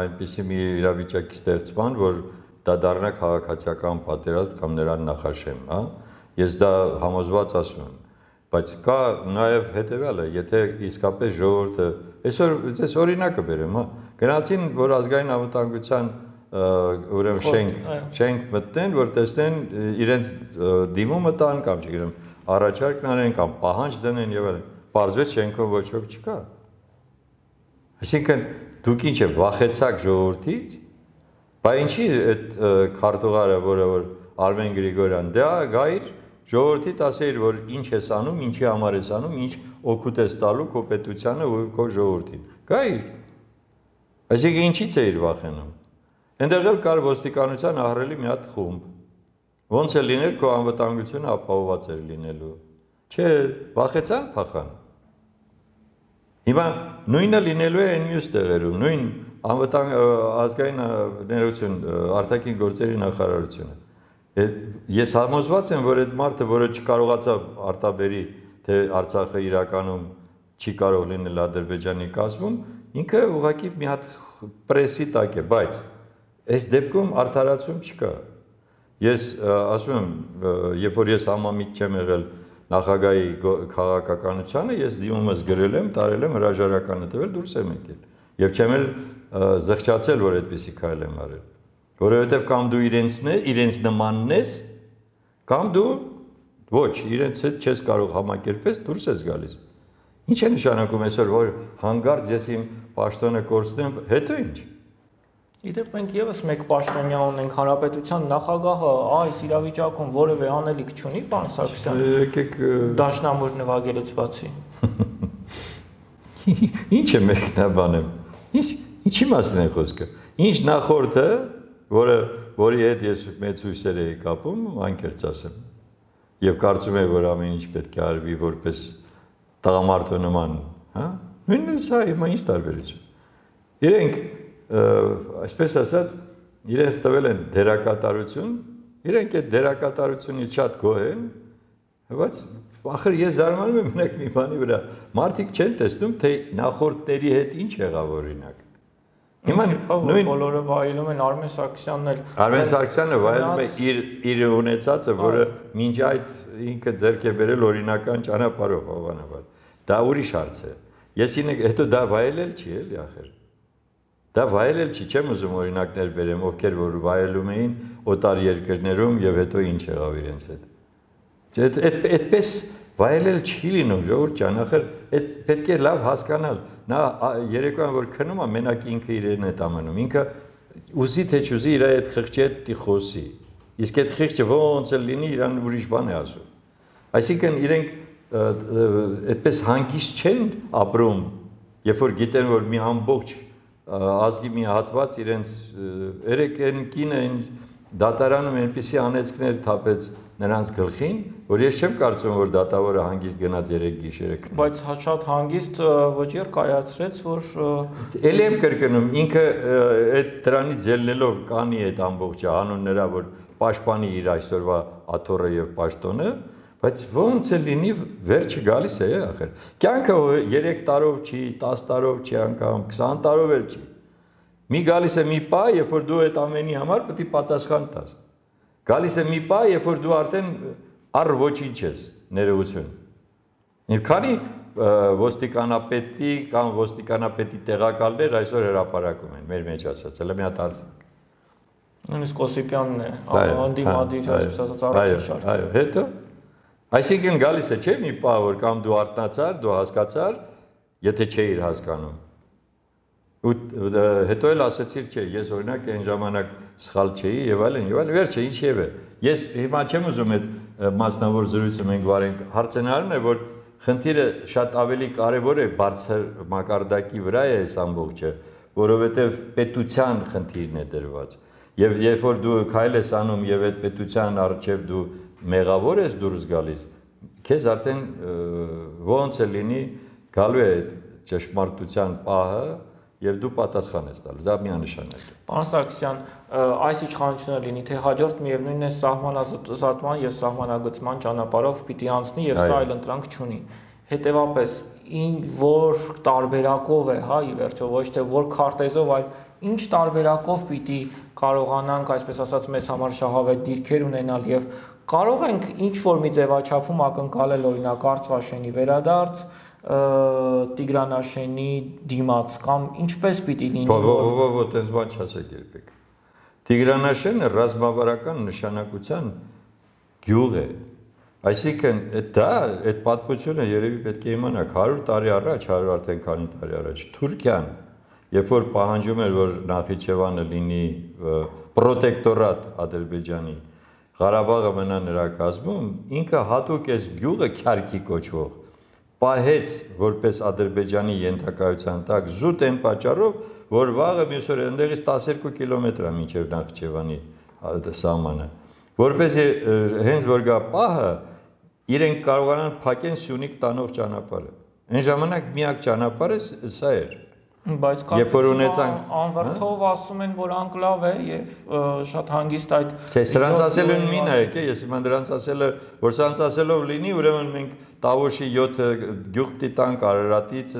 այնպիսի մի իրավիճակի ստեղծման, որ դա դառնա քաղաքացիական պատերազմ կամ նրան նախաշեմ, հա։ Ես դա համոզված ասում եմ, բայց կա նաեւ հետեւյալը, եթե իսկապես ժողովուրդը այսօր ես օրինակը բերեմ, հա, գնացին, որ ազգային անվտանգության ուրեմն շենք շենք մտնեն, որ տեսնեն իրենց դիմումը տան կամ չգիտեմ առաջարկն անեն կամ պահանջ դնեն եւ այլն, պարզվեց շենքով ոչ ոք չկա։ Այսինքն դուք ինչ է վախեցաք ժողովրդից, Բայց ինչի այդ քարտուղարը, որը որ Արմեն Գրիգորյան, դա գայր ժողովրդի ասեիր, որ ինչ ես անում, ինչի համար ես անում, ինչ օգուտ ես տալու քո պետությանը ու քո ժողովրդին։ Գայր։ Այսինքն ինչից էիր վախենում։ Այնտեղ էլ կար ոստիկանության ահռելի մի հատ խումբ։ Ոնց է լիներ քո անվտանգությունը ապահովված էր լինելու։ Չէ, վախեցան, փախան։ Հիմա նույնը լինելու է այն մյուս տեղերում, նույն անվտանգ ազգային ներողություն արտաքին գործերի նախարարությունը։ Ես համոզված եմ, որ այդ մարդը, որը չկարողացավ արտաբերի, թե Արցախը իրականում չի կարող լինել Ադրբեջանի կազմում, ինքը ուղղակի մի հատ պրեսի տակ է, բայց այս դեպքում արդարացում չկա։ Ես ասում եմ, երբ որ ես համամիտ չեմ եղել նախագահի քաղաքականությանը, ես դիմումս գրել եմ, տարել եմ հրաժարականը տվել, դուրս եմ եկել։ Եվ չեմ էլ զղջացել, որ այդպիսի քայլ եմ արել։ Որովհետև կամ դու իրենցն է, իրենց նմանն ես, կամ դու ոչ, իրենց հետ չես կարող համակերպես, դուրս ես գալիս։ Ինչ է նշանակում այսօր, որ հանգարց ես իմ պաշտոնը կորցնեմ, հետո ինչ։ Իդեպ մենք եւս մեկ պաշտոնյա ունենք, հանրապետության նախագահը այս իրավիճակում որևէ անելիք չունի, պարոն Սարգսյան։ Եկեք դաշնամուր նվագելուց բացի։ Ինչ է մեկնաբանեմ։ Ինչ ինչի մասին է խոսքը։ Ինչ նախորդը, որը որի հետ ես մեծ հույսեր էի կապում, անկեղծ ասեմ։ Եվ կարծում եմ, որ ամեն ինչ պետք է արվի որպես տղամարդու նման, հա։ Նույնն է սա, հիմա ինչ տարբերություն։ Իրենք այսպես ասած, իրենց տվել են դերակատարություն, իրենք այդ դերակատարությունից շատ գոհ են, բայց ախր ես զարմանում եմ մենակ մի բանի վրա, մարդիկ չեն տեսնում, թե նախորդների հետ ինչ եղավ օրինակ։ Հիմա նույն բոլորը վայելում են Արմեն Սարգսյանն էլ։ Արմեն Սարգսյանը վայելում է իր իր ունեցածը, որը մինչ այդ ինքը ձեռք է բերել օրինական ճանապարհով, հավանաբար։ Դա ուրիշ հարց է։ Ես ինքը հետո դա վայելել չի էլի ախր։ Դա վայելել չի, չեմ ուզում օրինակներ բերեմ, ովքեր որ վայելում էին օտար երկրներում եւ հետո ինչ եղավ իրենց հետ։ Այդպես վայելել չի լինում, ժողովուրդ ջան, ախր այդ պետք է լավ հասկանալ։ Նա երեկոյան որ քնում է, մենակ ինքը իրեն է տամանում, ինքը ուզի թե չուզի իր այդ խղճի հետ դի խոսի։ Իսկ այդ խղճը ոնց է լինի, իրան ուրիշ բան է ասում։ Այսինքն իրենք այդպես հանգիստ չեն ապրում, երբ որ գիտեն, որ մի ամբողջ ազգի մի հատված իրենց երեք այն կինը այն դատարանում այնպիսի անեծքներ թափեց նրանց գլխին, որ ես չեմ կարծում, որ դատավորը հանգիստ գնաց երեք գիշերը քնի։ Բայց շատ հանգիստ վճիռ կայացրեց, որ էլի եմ կրկնում, ինքը այդ դրանից ելնելով կանի այդ ամբողջը հանուն նրա, որ պաշտպանի իր այսօրվա աթոռը եւ պաշտոնը, բայց ոնց է լինի վերջը գալիս է, ախր։ Կյանքը երեք տարով չի, տասը տարով չի անգամ, քսան տարով էլ չի։ Մի գալիս է մի պա, երբ որ դու այդ ամենի համար պետք է պատասխան տաս։ Գալիս է մի պա, երբ որ դու արդեն առ ոչինչ ես, ներողություն։ Եվ քանի ոստիկանապետի կամ ոստիկանապետի տեղակալներ այսօր հրապարակում են, մեր մեջ ասած, հələ մի հատ արցանք։ Նույնիսկ Օսիպյանն է, անդիմադիր, այսպես ասած, առաջին շարք։ Այո, հետո այսինքն գալիս է չէ մի պահ, որ կամ դու արթնացար, դու հասկացար, եթե չէիր հասկանում։ Ու հետո էլ ասեցիր, չէ, ես օրինակ այն ժամանակ սխալ չէի եւ այլն, եւ այլն, վերջը ինչև է։ Ես հիմա չեմ ուզում այդ մասնավոր զրույցը մենք վարենք, հարցենալն է, որ խնդիրը շատ ավելի կարևոր է բարձր մակարդակի վրա է այս ամբողջը, որովհետեւ պետության խնդիրն է դրված։ Եվ երբ որ դու քայլ ես անում եւ այդ պետության առջեւ դու մեղավոր ես դուրս գալիս, քեզ արդեն ոնց է լինի գալու է ճշմարտության պահը եւ դու պատասխան ես տալու, դա միանշանակ է։ Պարոն Սարգսյան, այս իշխանությունը լինի, թե հաջորդ միևնույնն է սահմանազատման եւ սահմանագծման ճանապարհով պիտի անցնի եւ սա այլ ընտրանք չունի։ Հետևաբար, ինչ որ տարբերակով է, հա, ի վերջո ոչ թե որ քարտեզով, այլ ինչ տարբերակով պիտի կարողանանք, այսպես ասած, մեզ համար շահավետ դիրքեր ունենալ եւ կարող ենք ինչ որ մի ձևաչափում ակնկալել օրինակ Արցվաշենի վերադարձ, Տիգրանաշենի դիմաց կամ ինչպես պիտի լինի։ Ո՞ո-ո-ո, այդպես բան չասեք երբեք։ Տիգրանաշենը ռազմավարական նշանակության գյուղ է։ Այսինքն դա այդ պատմությունը երևի պետք է իմանաք հարյուր տարի առաջ, հարյուր արդեն քանի տարի առաջ Թուրքիան երբ որ պահանջում էր, որ Նախիջևանը լինի պրոտեկտորատ Ադրբեջանի, Ղարաբաղը մնա նրա կազմում, ինքը հատուկ այս գյուղը Քյարքի կոչվող պահեց որպես Ադրբեջանի ենթակայության տակ զուտ այն պատճառով, որ վաղը մյուս օրը այնտեղից տասներկու կիլոմետր է մինչև Նախիջևանի սահմանը, որպեսզի հենց որ գա պահը, իրենք կարողանան փակեն Սյունիք տանող ճանապարհը։ Այն ժամանակ միակ ճանապարհը սա էր։ Բայց անվրդով ասում են, որ անկլավ է եւ շատ հանգիստ այդ Չէ, սրանց ասել են մի նայեք, ես հիմա դրանց ասելը, որ սրանց ասելով լինի, ուրեմն մենք Տավոշի յոթ գյուղ տիտանք Արարատից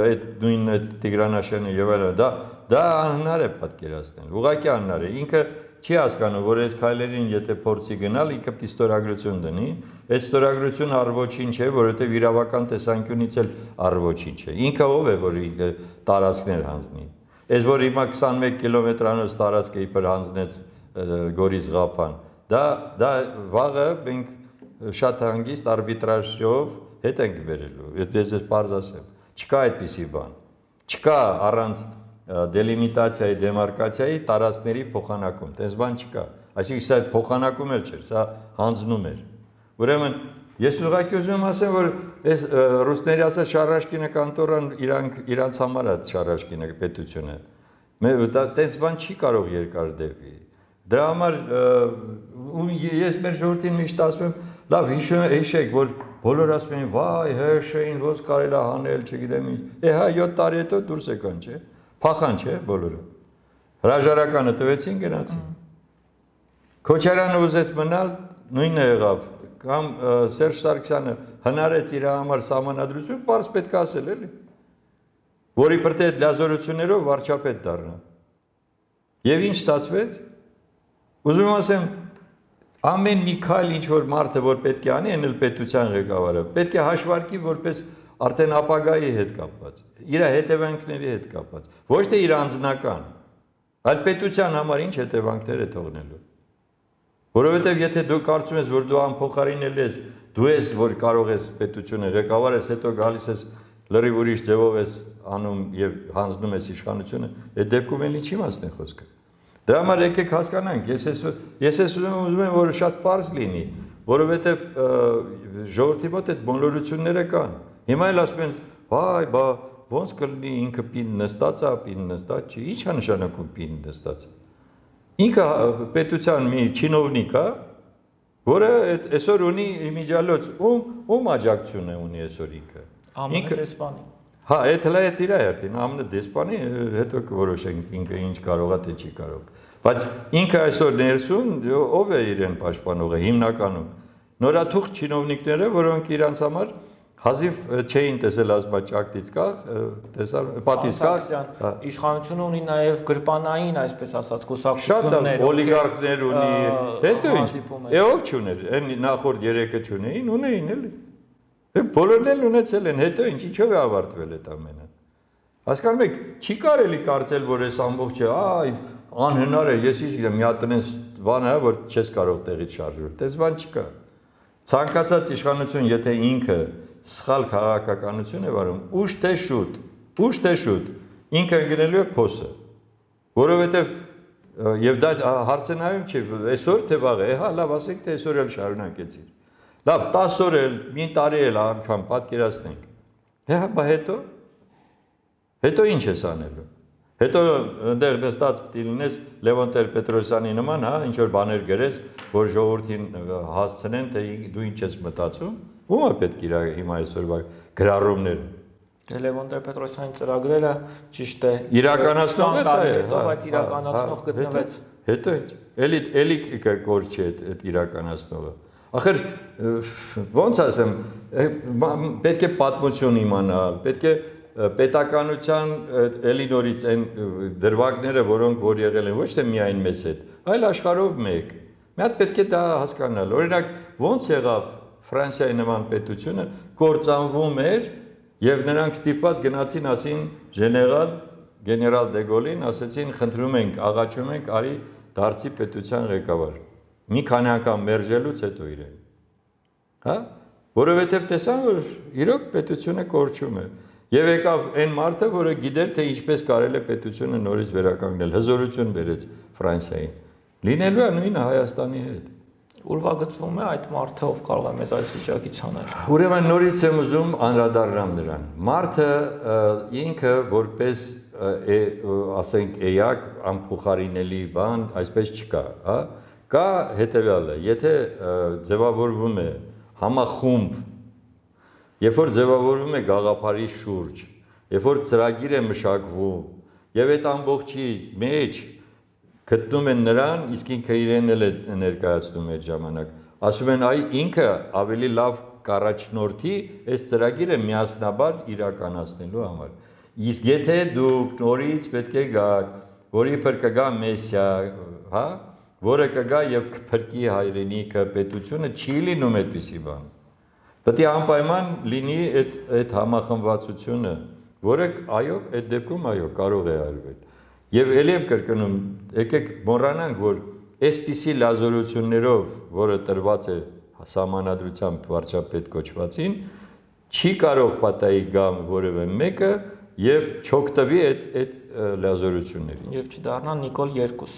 այդ նույն Տիգրանաշենը եւ այլն, դա դա անհնար է պատկերացնել։ Ուղղակի անհնար է։ Ինքը չի հասկանում, որ այս քայլերին եթե փորձի գնալ, ինքը պիտի ստորագրություն դնի, այդ ստորագրությունը առ-ոչինչ է, որովհետև իրավական տեսանկյունից էլ առ-ոչինչ է։ Ինքը ով է, որ ինքը տարածքներ հանձնի։ Այս որ հիմա քսանմեկ կիլոմետրանոց տարածքը իբր հանձնեց Գորիս Ղափան, դա դա վաղը մենք շատ հանգիստ արբիտրաժով հետ ենք բերելու։ Ես ես պարզ ասեմ, չկա այդպիսի բան։ Չկա առանց դելիմիտացիայի, դեմարկացիայի տարածքների փոխանակում, տես բան չկա, այսինքն սա փոխանակում էլ չէր, սա հանձնում էր։ Ուրեմն ես ուղղակի ուզում եմ ասեմ, որ այս ռուսների ասած Շարաշկինը կանտորան իրանք իրանց համար է Շարաշկինը պետությունը։ Տես բան չի կարող երկար դեպի։ Դրա համար ես մեր ժողովրդին միշտ ասում եմ, լավ հիշեք, որ բոլորը ասում են, վայ, հրշեին, ոնց կարելի է հանել, չգիտեմ ինչ։ Է հա յոթ տարի հետո դուրս եկան, չէ՞։ Փախան չէ բոլորը։ Հրաժարականը տվեցին գնացին։ Քոչարյանը ուզեց մնալ, նույնը եղավ։ Կամ Սերժ Սարգսյանը հնարեց իր համար սահմանադրություն, պարզ պետք է ասել էլի։ Որի պրտե այդ լիազորություններով վարչապետ դառնա։ Եվ ինչ ստացվեց։ Ուզում եմ ասեմ, ամեն մի քայլ ինչ որ մարդը որ պետք է անի, այն էլ պետության ղեկավարը, պետք է հաշվարկի որպես արդեն ապագայի հետ կապված, իր հետևանքների հետ կապված, ոչ թե իր անձնական, այլ պետության համար ինչ հետևանքներ է թողնելու։ Որովհետև եթե դու կարծում ես, որ դու անփոխարինելի ես, դու ես, որ կարող ես պետությունը ղեկավար ես, հետո գալիս ես լրիվ ուրիշ ձևով ես անում եւ հանձնում ես իշխանությունը, այդ դեպքում էլ ինչի մասն է խոսքը։ Դրա համար եկեք հասկանանք, ես ես ես ուզում եմ, որ շատ պարզ լինի, որովհետև ժողովրդի մոտ այդ բոլորությունները կան։ Հիմա էլ ասում են, վայ, բա ոնց կլինի ինքը պին նստած է, պին նստած չի, ի՞նչ է նշանակում պին նստած։ Ինքը պետության մի չինովնիկ է, որը այսօր ունի իմիջիալոց, ում ում աջակցություն է ունի այսօր ինքը։ Ինքը դեսպանի։ Հա, այդ հլա է իր երթին, ամենը դեսպանի, հետո կորոշենք ինքը ինչ կարող է, թե չի կարող։ Բայց ինքը այսօր ներսում ով է իրեն պաշտպանողը հիմնականում։ Նորաթուխ չինովնիկները, որոնք իրանց համար հազիվ չէին տեսել ազգաճակտից կախ, տեսար պատից կախ, իշխանությունը ունի նաև գրպանային, այսպես ասած, կուսակցություններ, օլիգարխներ ունի, հետո ինչ, է ով չուներ, այն նախորդ երեքը չունեին, ունեին էլի։ Բոլորն էլ ունեցել են, հետո ինչ, ինչով է ավարտվել այդ ամենը։ Հասկանում եք, չի կարելի կարծել, որ այս ամբողջը, այ, անհնար է, ես ինչ գիտեմ, մի հատ տնես բան է, որ չես կարող տեղից շարժվել, դες բան չկա։ Ցանկացած իշխանություն, եթե ինքը սխալ քաղաքականություն է վարում, ուշ թե շուտ, ուշ թե շուտ, ինքը ընկնելու է փոսը։ Որովհետև եւ դա հարցը նայում չի, այսօր թե վաղը, հա, լավ, ասենք թե այսօր էլ շարունակեցին։ Լավ, տասը օր էլ, մի տարի էլ անգամ պատկերացնենք։ Հա, բա հետո հետո ինչ ես անելու։ Հետո այնտեղ նստած պիտի լինես Լևոն Տեր-Պետրոսյանի նման, հա, ինչ որ բաներ գրես, որ ժողովրդին հասցնեն, թե դու ինչ ես մտածում։ Ո՞ւմ է պետք իր հիմա այսօրվա գրառումները։ Դե Լևոն Տեր-Պետրոսյանի ծրագրերը ճիշտ է։ Իրականացնող է սա է, բայց իրականացնող գտնվեց։ Հետո ինչ։ Էլի էլի կորչ է այդ իրականացնողը։ Ախր ոնց ասեմ, պետք է պատմություն իմանալ, պետք է պետականության էլի նորից այն դրվագները, որոնք որ եղել են, ոչ թե միայն մեզ հետ, այլ աշխարհով մեկ։ Մի հատ պետք է դա հասկանալ։ Օրինակ, ոնց եղավ Ֆրանսիայի նման պետությունը կործանվում էր եւ նրանք ստիպված գնացին ասին գեներալ գեներալ դե Գոլին, ասեցին խնդրում ենք, աղաչում ենք, արի դարձի պետության ղեկավար։ Մի քանի անգամ մերժելուց հետո իրեն։ Հա? Որովհետև տեսան, որ իրոք պետությունը կորչում է։ Եվ եկավ այն մարդը, որը գիտեր, թե ինչպես կարելի է պետությունը նորից վերականգնել, հզորություն բերեց Ֆրանսիային։ Լինելու է նույնը Հայաստանի հետ։ Ուրվագծվում է այդ մարդը, ով կարող է մեզ այս վիճակից հանել։ Ուրեմն նորից եմ ուզում անդրադառնամ նրան։ Մարդը ինքը որպես ասենք էակ անփոխարինելի բան, այսպես չկա, հա։ Կա հետևյալը, եթե ձևավորվում է համախումբ, երբ որ ձևավորվում է գաղափարի շուրջ, երբ որ ծրագիր է մշակվում, եւ այդ ամբողջի մեջ գտնում են նրան, իսկ ինքը իրեն էլ է ներկայացնում այդ ժամանակ։ Ասում են, այ ինքը ավելի լավ կառաջնորդի այս ծրագիրը միասնաբար իրականացնելու համար։ Իսկ եթե դուք նորից պետք է գաք, որի փր կգա Մեսիա, հա, որը կգա եւ կփրկի հայրենիքը, պետությունը, չի լինում այդպիսի բան։ Պետք է անպայման լինի այդ այդ համախմբվածությունը, որը այո, այդ դեպքում այո, կարող է արվել։ Եվ ելի եմ կրկնում, եկեք մոռանանք, որ այսպիսի լազորություններով, որը տրված է սահմանադրությամբ վարչապետ կոչվածին, չի կարող պատահի գա որևէ մեկը եւ չօգտվի այդ այդ լազորություններից։ Եվ չդառնա Նիկոլ երկու։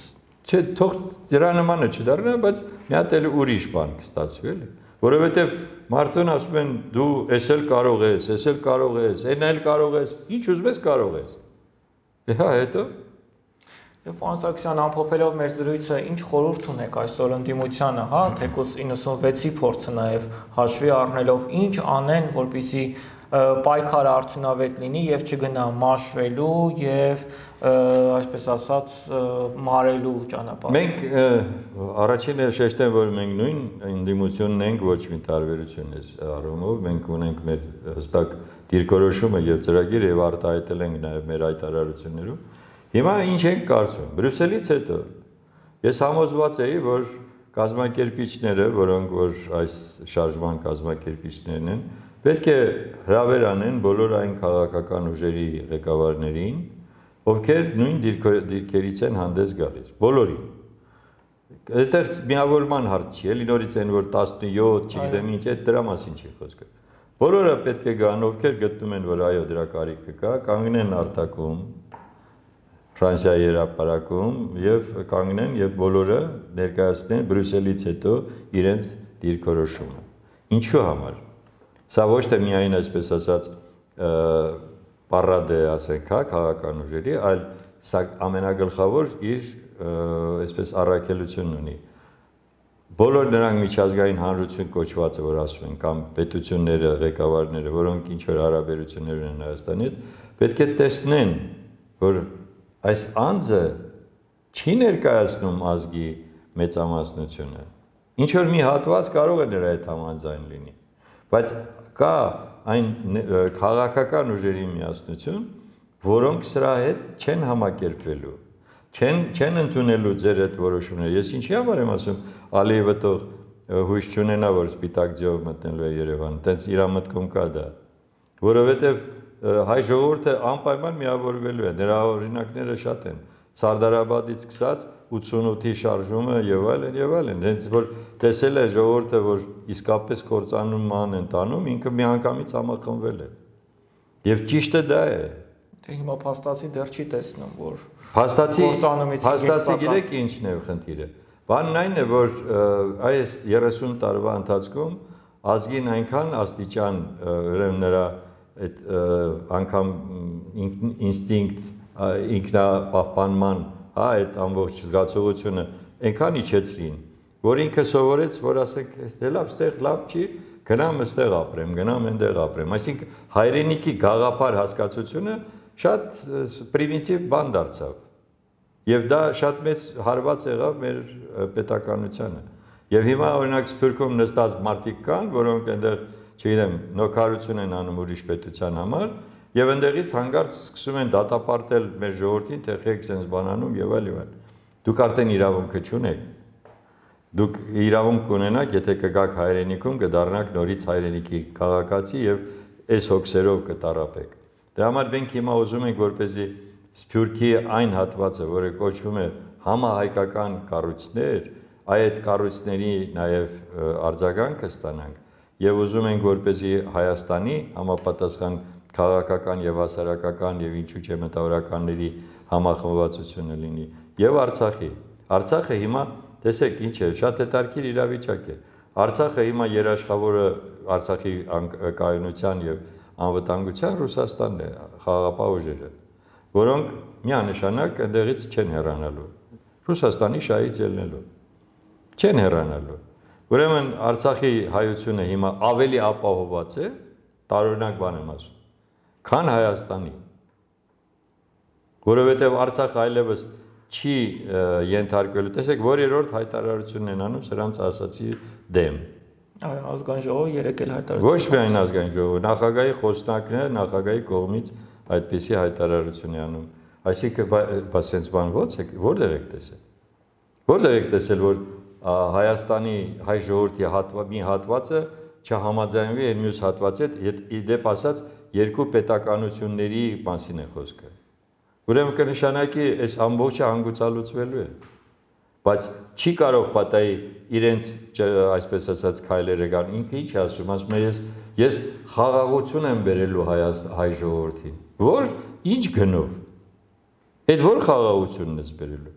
Չէ, թող դրա նմանը չդառնա, բայց մի հատ էլ ուրիշ բան կստացվի, էլի։ Որովհետեւ մարդուն ասում են դու էս էլ կարող ես, էս էլ կարող ես, այն էլ կարող ես, ինչ ուզում ես կարող ես։ Հա, հետո Եվ պարոն Սարգսյան, ամփոփելով մեր զրույցը, ինչ խորհուրդ ունեք այսօր ընդդիմությանը, հա, թեկուզ իննսունվեցի փորձը նաև հաշվի առնելով, ինչ անեն, որպեսզի պայքարը արդյունավետ լինի եւ չգնա մաշվելու եւ այսպես ասած մարելու ճանապարհով։ Մենք առաջինը շեշտեմ, որ մենք նույն ընդդիմությունն ենք, ոչ մի տարբերություն էս առումով, մենք ունենք մեր հստակ դիրքորոշումը եւ ծրագիր եւ արտահայտել ենք նաեւ մեր հայտարարություններում։ Հիմա ինչ ենք կարծում։ Բրյուսելից հետո ես համոզված էի, որ կազմակերպիչները, որոնք որ այս շարժման կազմակերպիչներն են, պետք է հրավեր անեն բոլոր այն քաղաքական ուժերի ղեկավարներին, ովքեր նույն դիրքերից են հանդես գալիս, բոլորին։ Այդտեղ միավորման հարց չի, էլի նորից են որ տասնյոթ, չգիտեմ ինչ, այդ դրա մասին չի խոսքը։ Բոլորը պետք է գան, ովքեր գտնում են, որ այո, դրա կարիքը կա, կանգնեն արտակում, Ֆրանսիայի հրապարակում եւ կանգնեն եւ բոլորը ներկայացնեն Բրյուսելից հետո իրենց դիրքորոշումը։ Ինչու համար։ Սա ոչ թե միայն այսպես ասած պարադ է, ասենք, հա, քաղաքական ուժերի, այլ սա ամենագլխավոր իր այսպես առաքելությունն ունի։ Բոլոր նրանք միջազգային հանրություն կոչվածը, որ ասում են, կամ պետությունները, ղեկավարները, որոնք ինչ որ հարաբերություններ ունեն Հայաստանի հետ, պետք է տեսնեն, որ այս անձը չի ներկայացնում ազգի մեծամասնությունը։ Ինչ որ մի հատված կարող է նրա հետ համաձայն լինի, բայց կա այն քաղաքական ուժերի միասնություն, որոնք սրա հետ չեն համակերպվելու, չեն չեն ընդունելու ձեր այդ որոշումները։ Ես ինչի համար եմ ասում, Ալիևը թող հույս չունենա, որ սպիտակ ձյով մտնելու է Երևան, տենց իր մտքում կա դա, որովհետև հայ ժողովուրդը անպայման միավորվելու է, նրա օրինակները շատ են, Սարդարաբադից սկսած ութսունութի շարժումը եւ այլն եւ այլն, հենց որ տեսել է ժողովուրդը, որ իսկապես կործանման են տանում, ինքը միանգամից համախմբվել է։ Եվ ճիշտը դա է։ Թե հիմա փաստացի դեռ չի տեսնում, որ փաստացի փաստացի գիտեք ինչն է խնդիրը։ Բանն այն է, որ այս երեսուն տարվա ընթացքում ազգին այնքան աստիճան ուրեմն նրա այդ անգամ ինստինկտ ինքնապահպանման, հա, այդ ամբողջ զգացողությունը այնքան իջեցրին, որ ինքը սովորեց, որ ասեք, դե լավ, ստեղ լավ չի, գնամ այստեղ ապրեմ, գնամ այնտեղ ապրեմ։ Այսինքն հայրենիքի գաղափար հասկացությունը շատ պրիմիտիվ բան դարձավ։ Եվ դա շատ մեծ հարված եղավ մեր պետականությանը։ Եվ հիմա օրինակ Սփյուռքում նստած մարդիկ կան, որոնք այնտեղ, չգիտեմ, նոքարություն են անում ուրիշ պետության համար, եւ այնտեղից հանգարց սկսում են դատապարտել մեր ժողովրդին, թե եք sense բանանում եւ այլ եւ այլ։ Դուք արդեն իրավունքը չունեք։ Դուք իրավունք կունենաք, եթե կգաք հայրենիքում, կդառնաք նորից հայրենիքի քաղաքացի եւ այս հոգսերով կտարապեք։ Դրա համար մենք հիմա ուզում ենք, որպեսզի Սփյուռքի այն հատվածը, որը կոչվում է համահայկական կառույցներ, այդ կառույցների նաև արձագանքը ստանանք եւ ուզում ենք, որպեսզի Հայաստանի համապատասխան քաղաքական եւ հասարակական եւ ինչու՞ չէ մտավորականների համախմբվածությունը լինի եւ Արցախի։ Արցախը հիմա տեսեք ինչ է, շատ հետաքրքիր իրավիճակ է։ Արցախը հիմա երաշխավորը Արցախի կայունության եւ անվտանգության Ռուսաստանն է, խաղաղապահ ուժերը, որոնք միանշանակ այնտեղից չեն հեռանալու։ Ռուսաստանի շահից ելնելու։ Չեն հեռանալու։ Ուրեմն Արցախի հայությունը հիմա ավելի ապահովված է, տարօրինակ բան եմ ասում, քան Հայաստանի։ Որովհետև Արցախը այլևս չի ենթարկվելու, տեսեք, որ երրորդ հայտարարությունն են անում սրանց ասացի դեմ։ Ազգային ժողովը երեք էլ հայտարարություն։ Ոչ միայն ազգային ժողովը, նախագահի խոսնակն է, նախագահի կողմից այդպիսի հայտարարություն է անում։ Այսինքն, բա սենց բան ո՞ց է, որտեղ եք տեսել։ Որտեղ եք տեսել, որ Հայաստանի հայ ժողովրդի մի հատվածը չհամաձայնվի այն մյուս հատվածի հետ, իդեպ ասած երկու պետականությունների մասին է խոսքը։ Ուրեմն կնշանակի այս ամբողջը հանգուցալուծվելու է, բայց չի կարող պատահի իրենց այսպես ասած քայլերը գան, ինքը ինչ է ասում, ասում է ես ես խաղաղություն եմ բերելու հայ ժողովրդին, որ ինչ գնով, այդ որ խաղաղությունն ես բերելու,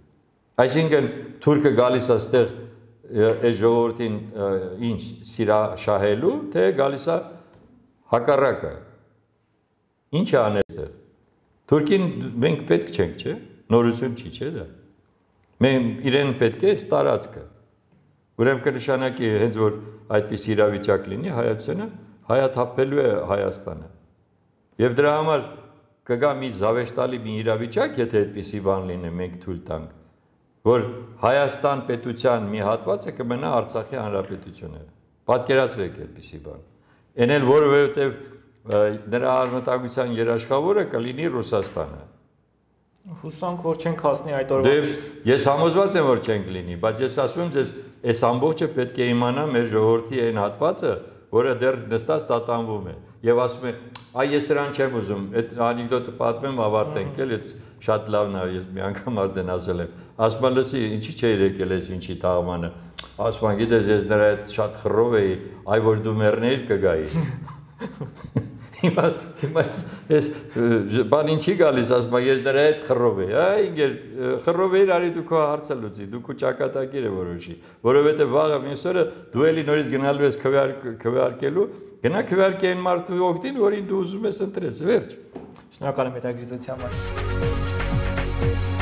այսինքն թուրքը գալիս է ստեղ այս ժողովրդին ինչ սիրա շահելու, թե գալիս է հակառակը, ինչ է անել ստեղ, Թուրքին մենք պետք չենք, չէ, նորություն չի, չէ դա, մենք իրեն պետք է ստարածքը, ուրեմն կնշանակի հենց որ այդպես իրավիճակ լինի հայությունը, հայաթափելու է Հայաստանը, և դրա համար կգա մի զավեշտալի մի իրավիճակ, եթե այդպիսի բան լինի, մենք թույլ տանք, որ Հայաստան պետության մի հատվածը կմնա Արցախի հանրապետությունը, պատկերացրեք այդպիսի բան, են էլ որովհետև նրա արմատագության երաշխավորը կլինի Ռուսաստանը։ Հուսանք, որ չենք հասնի այդ օրվա։ Ես համոզված եմ, որ չենք լինի, բայց ես ասում եմ ձեզ, այս ամբողջը պետք է իմանա մեր ժողովրդի այն հատվածը, որը դեռ նստած տատանվում է, եւ ասում է, այ ես սրան չեմ ուզում, այդ անեկդոտը պատմեմ, ավարտենք, էլ այդ շատ լավն է, ես մի անգամ արդեն ասել եմ, ասում եմ, լսի, ինչի՞ չէի եկել այս ինչի տաղմանը, ասում եմ, գիտես, ես նրա հետ շատ խռով էի, այ որ դու մեռնեիր կգայի։ Հիմա ես բան ինչի գալիս, ասում եմ, ես դրա հետ խռով էի, այ ինգեր խռով էիր, արի դու քո հարցը լուծի, դու քո ճակատագիրը որոշի, որովհետև վաղը մյուս օրը դու էլի նորից գնալու ես քվեարկելու, գնա քվեարկի այն մարդու օգտին, որին դու ուզում ես ընտրես, վերջ։ Շնորհակալ եմ հետաքրքրության համար։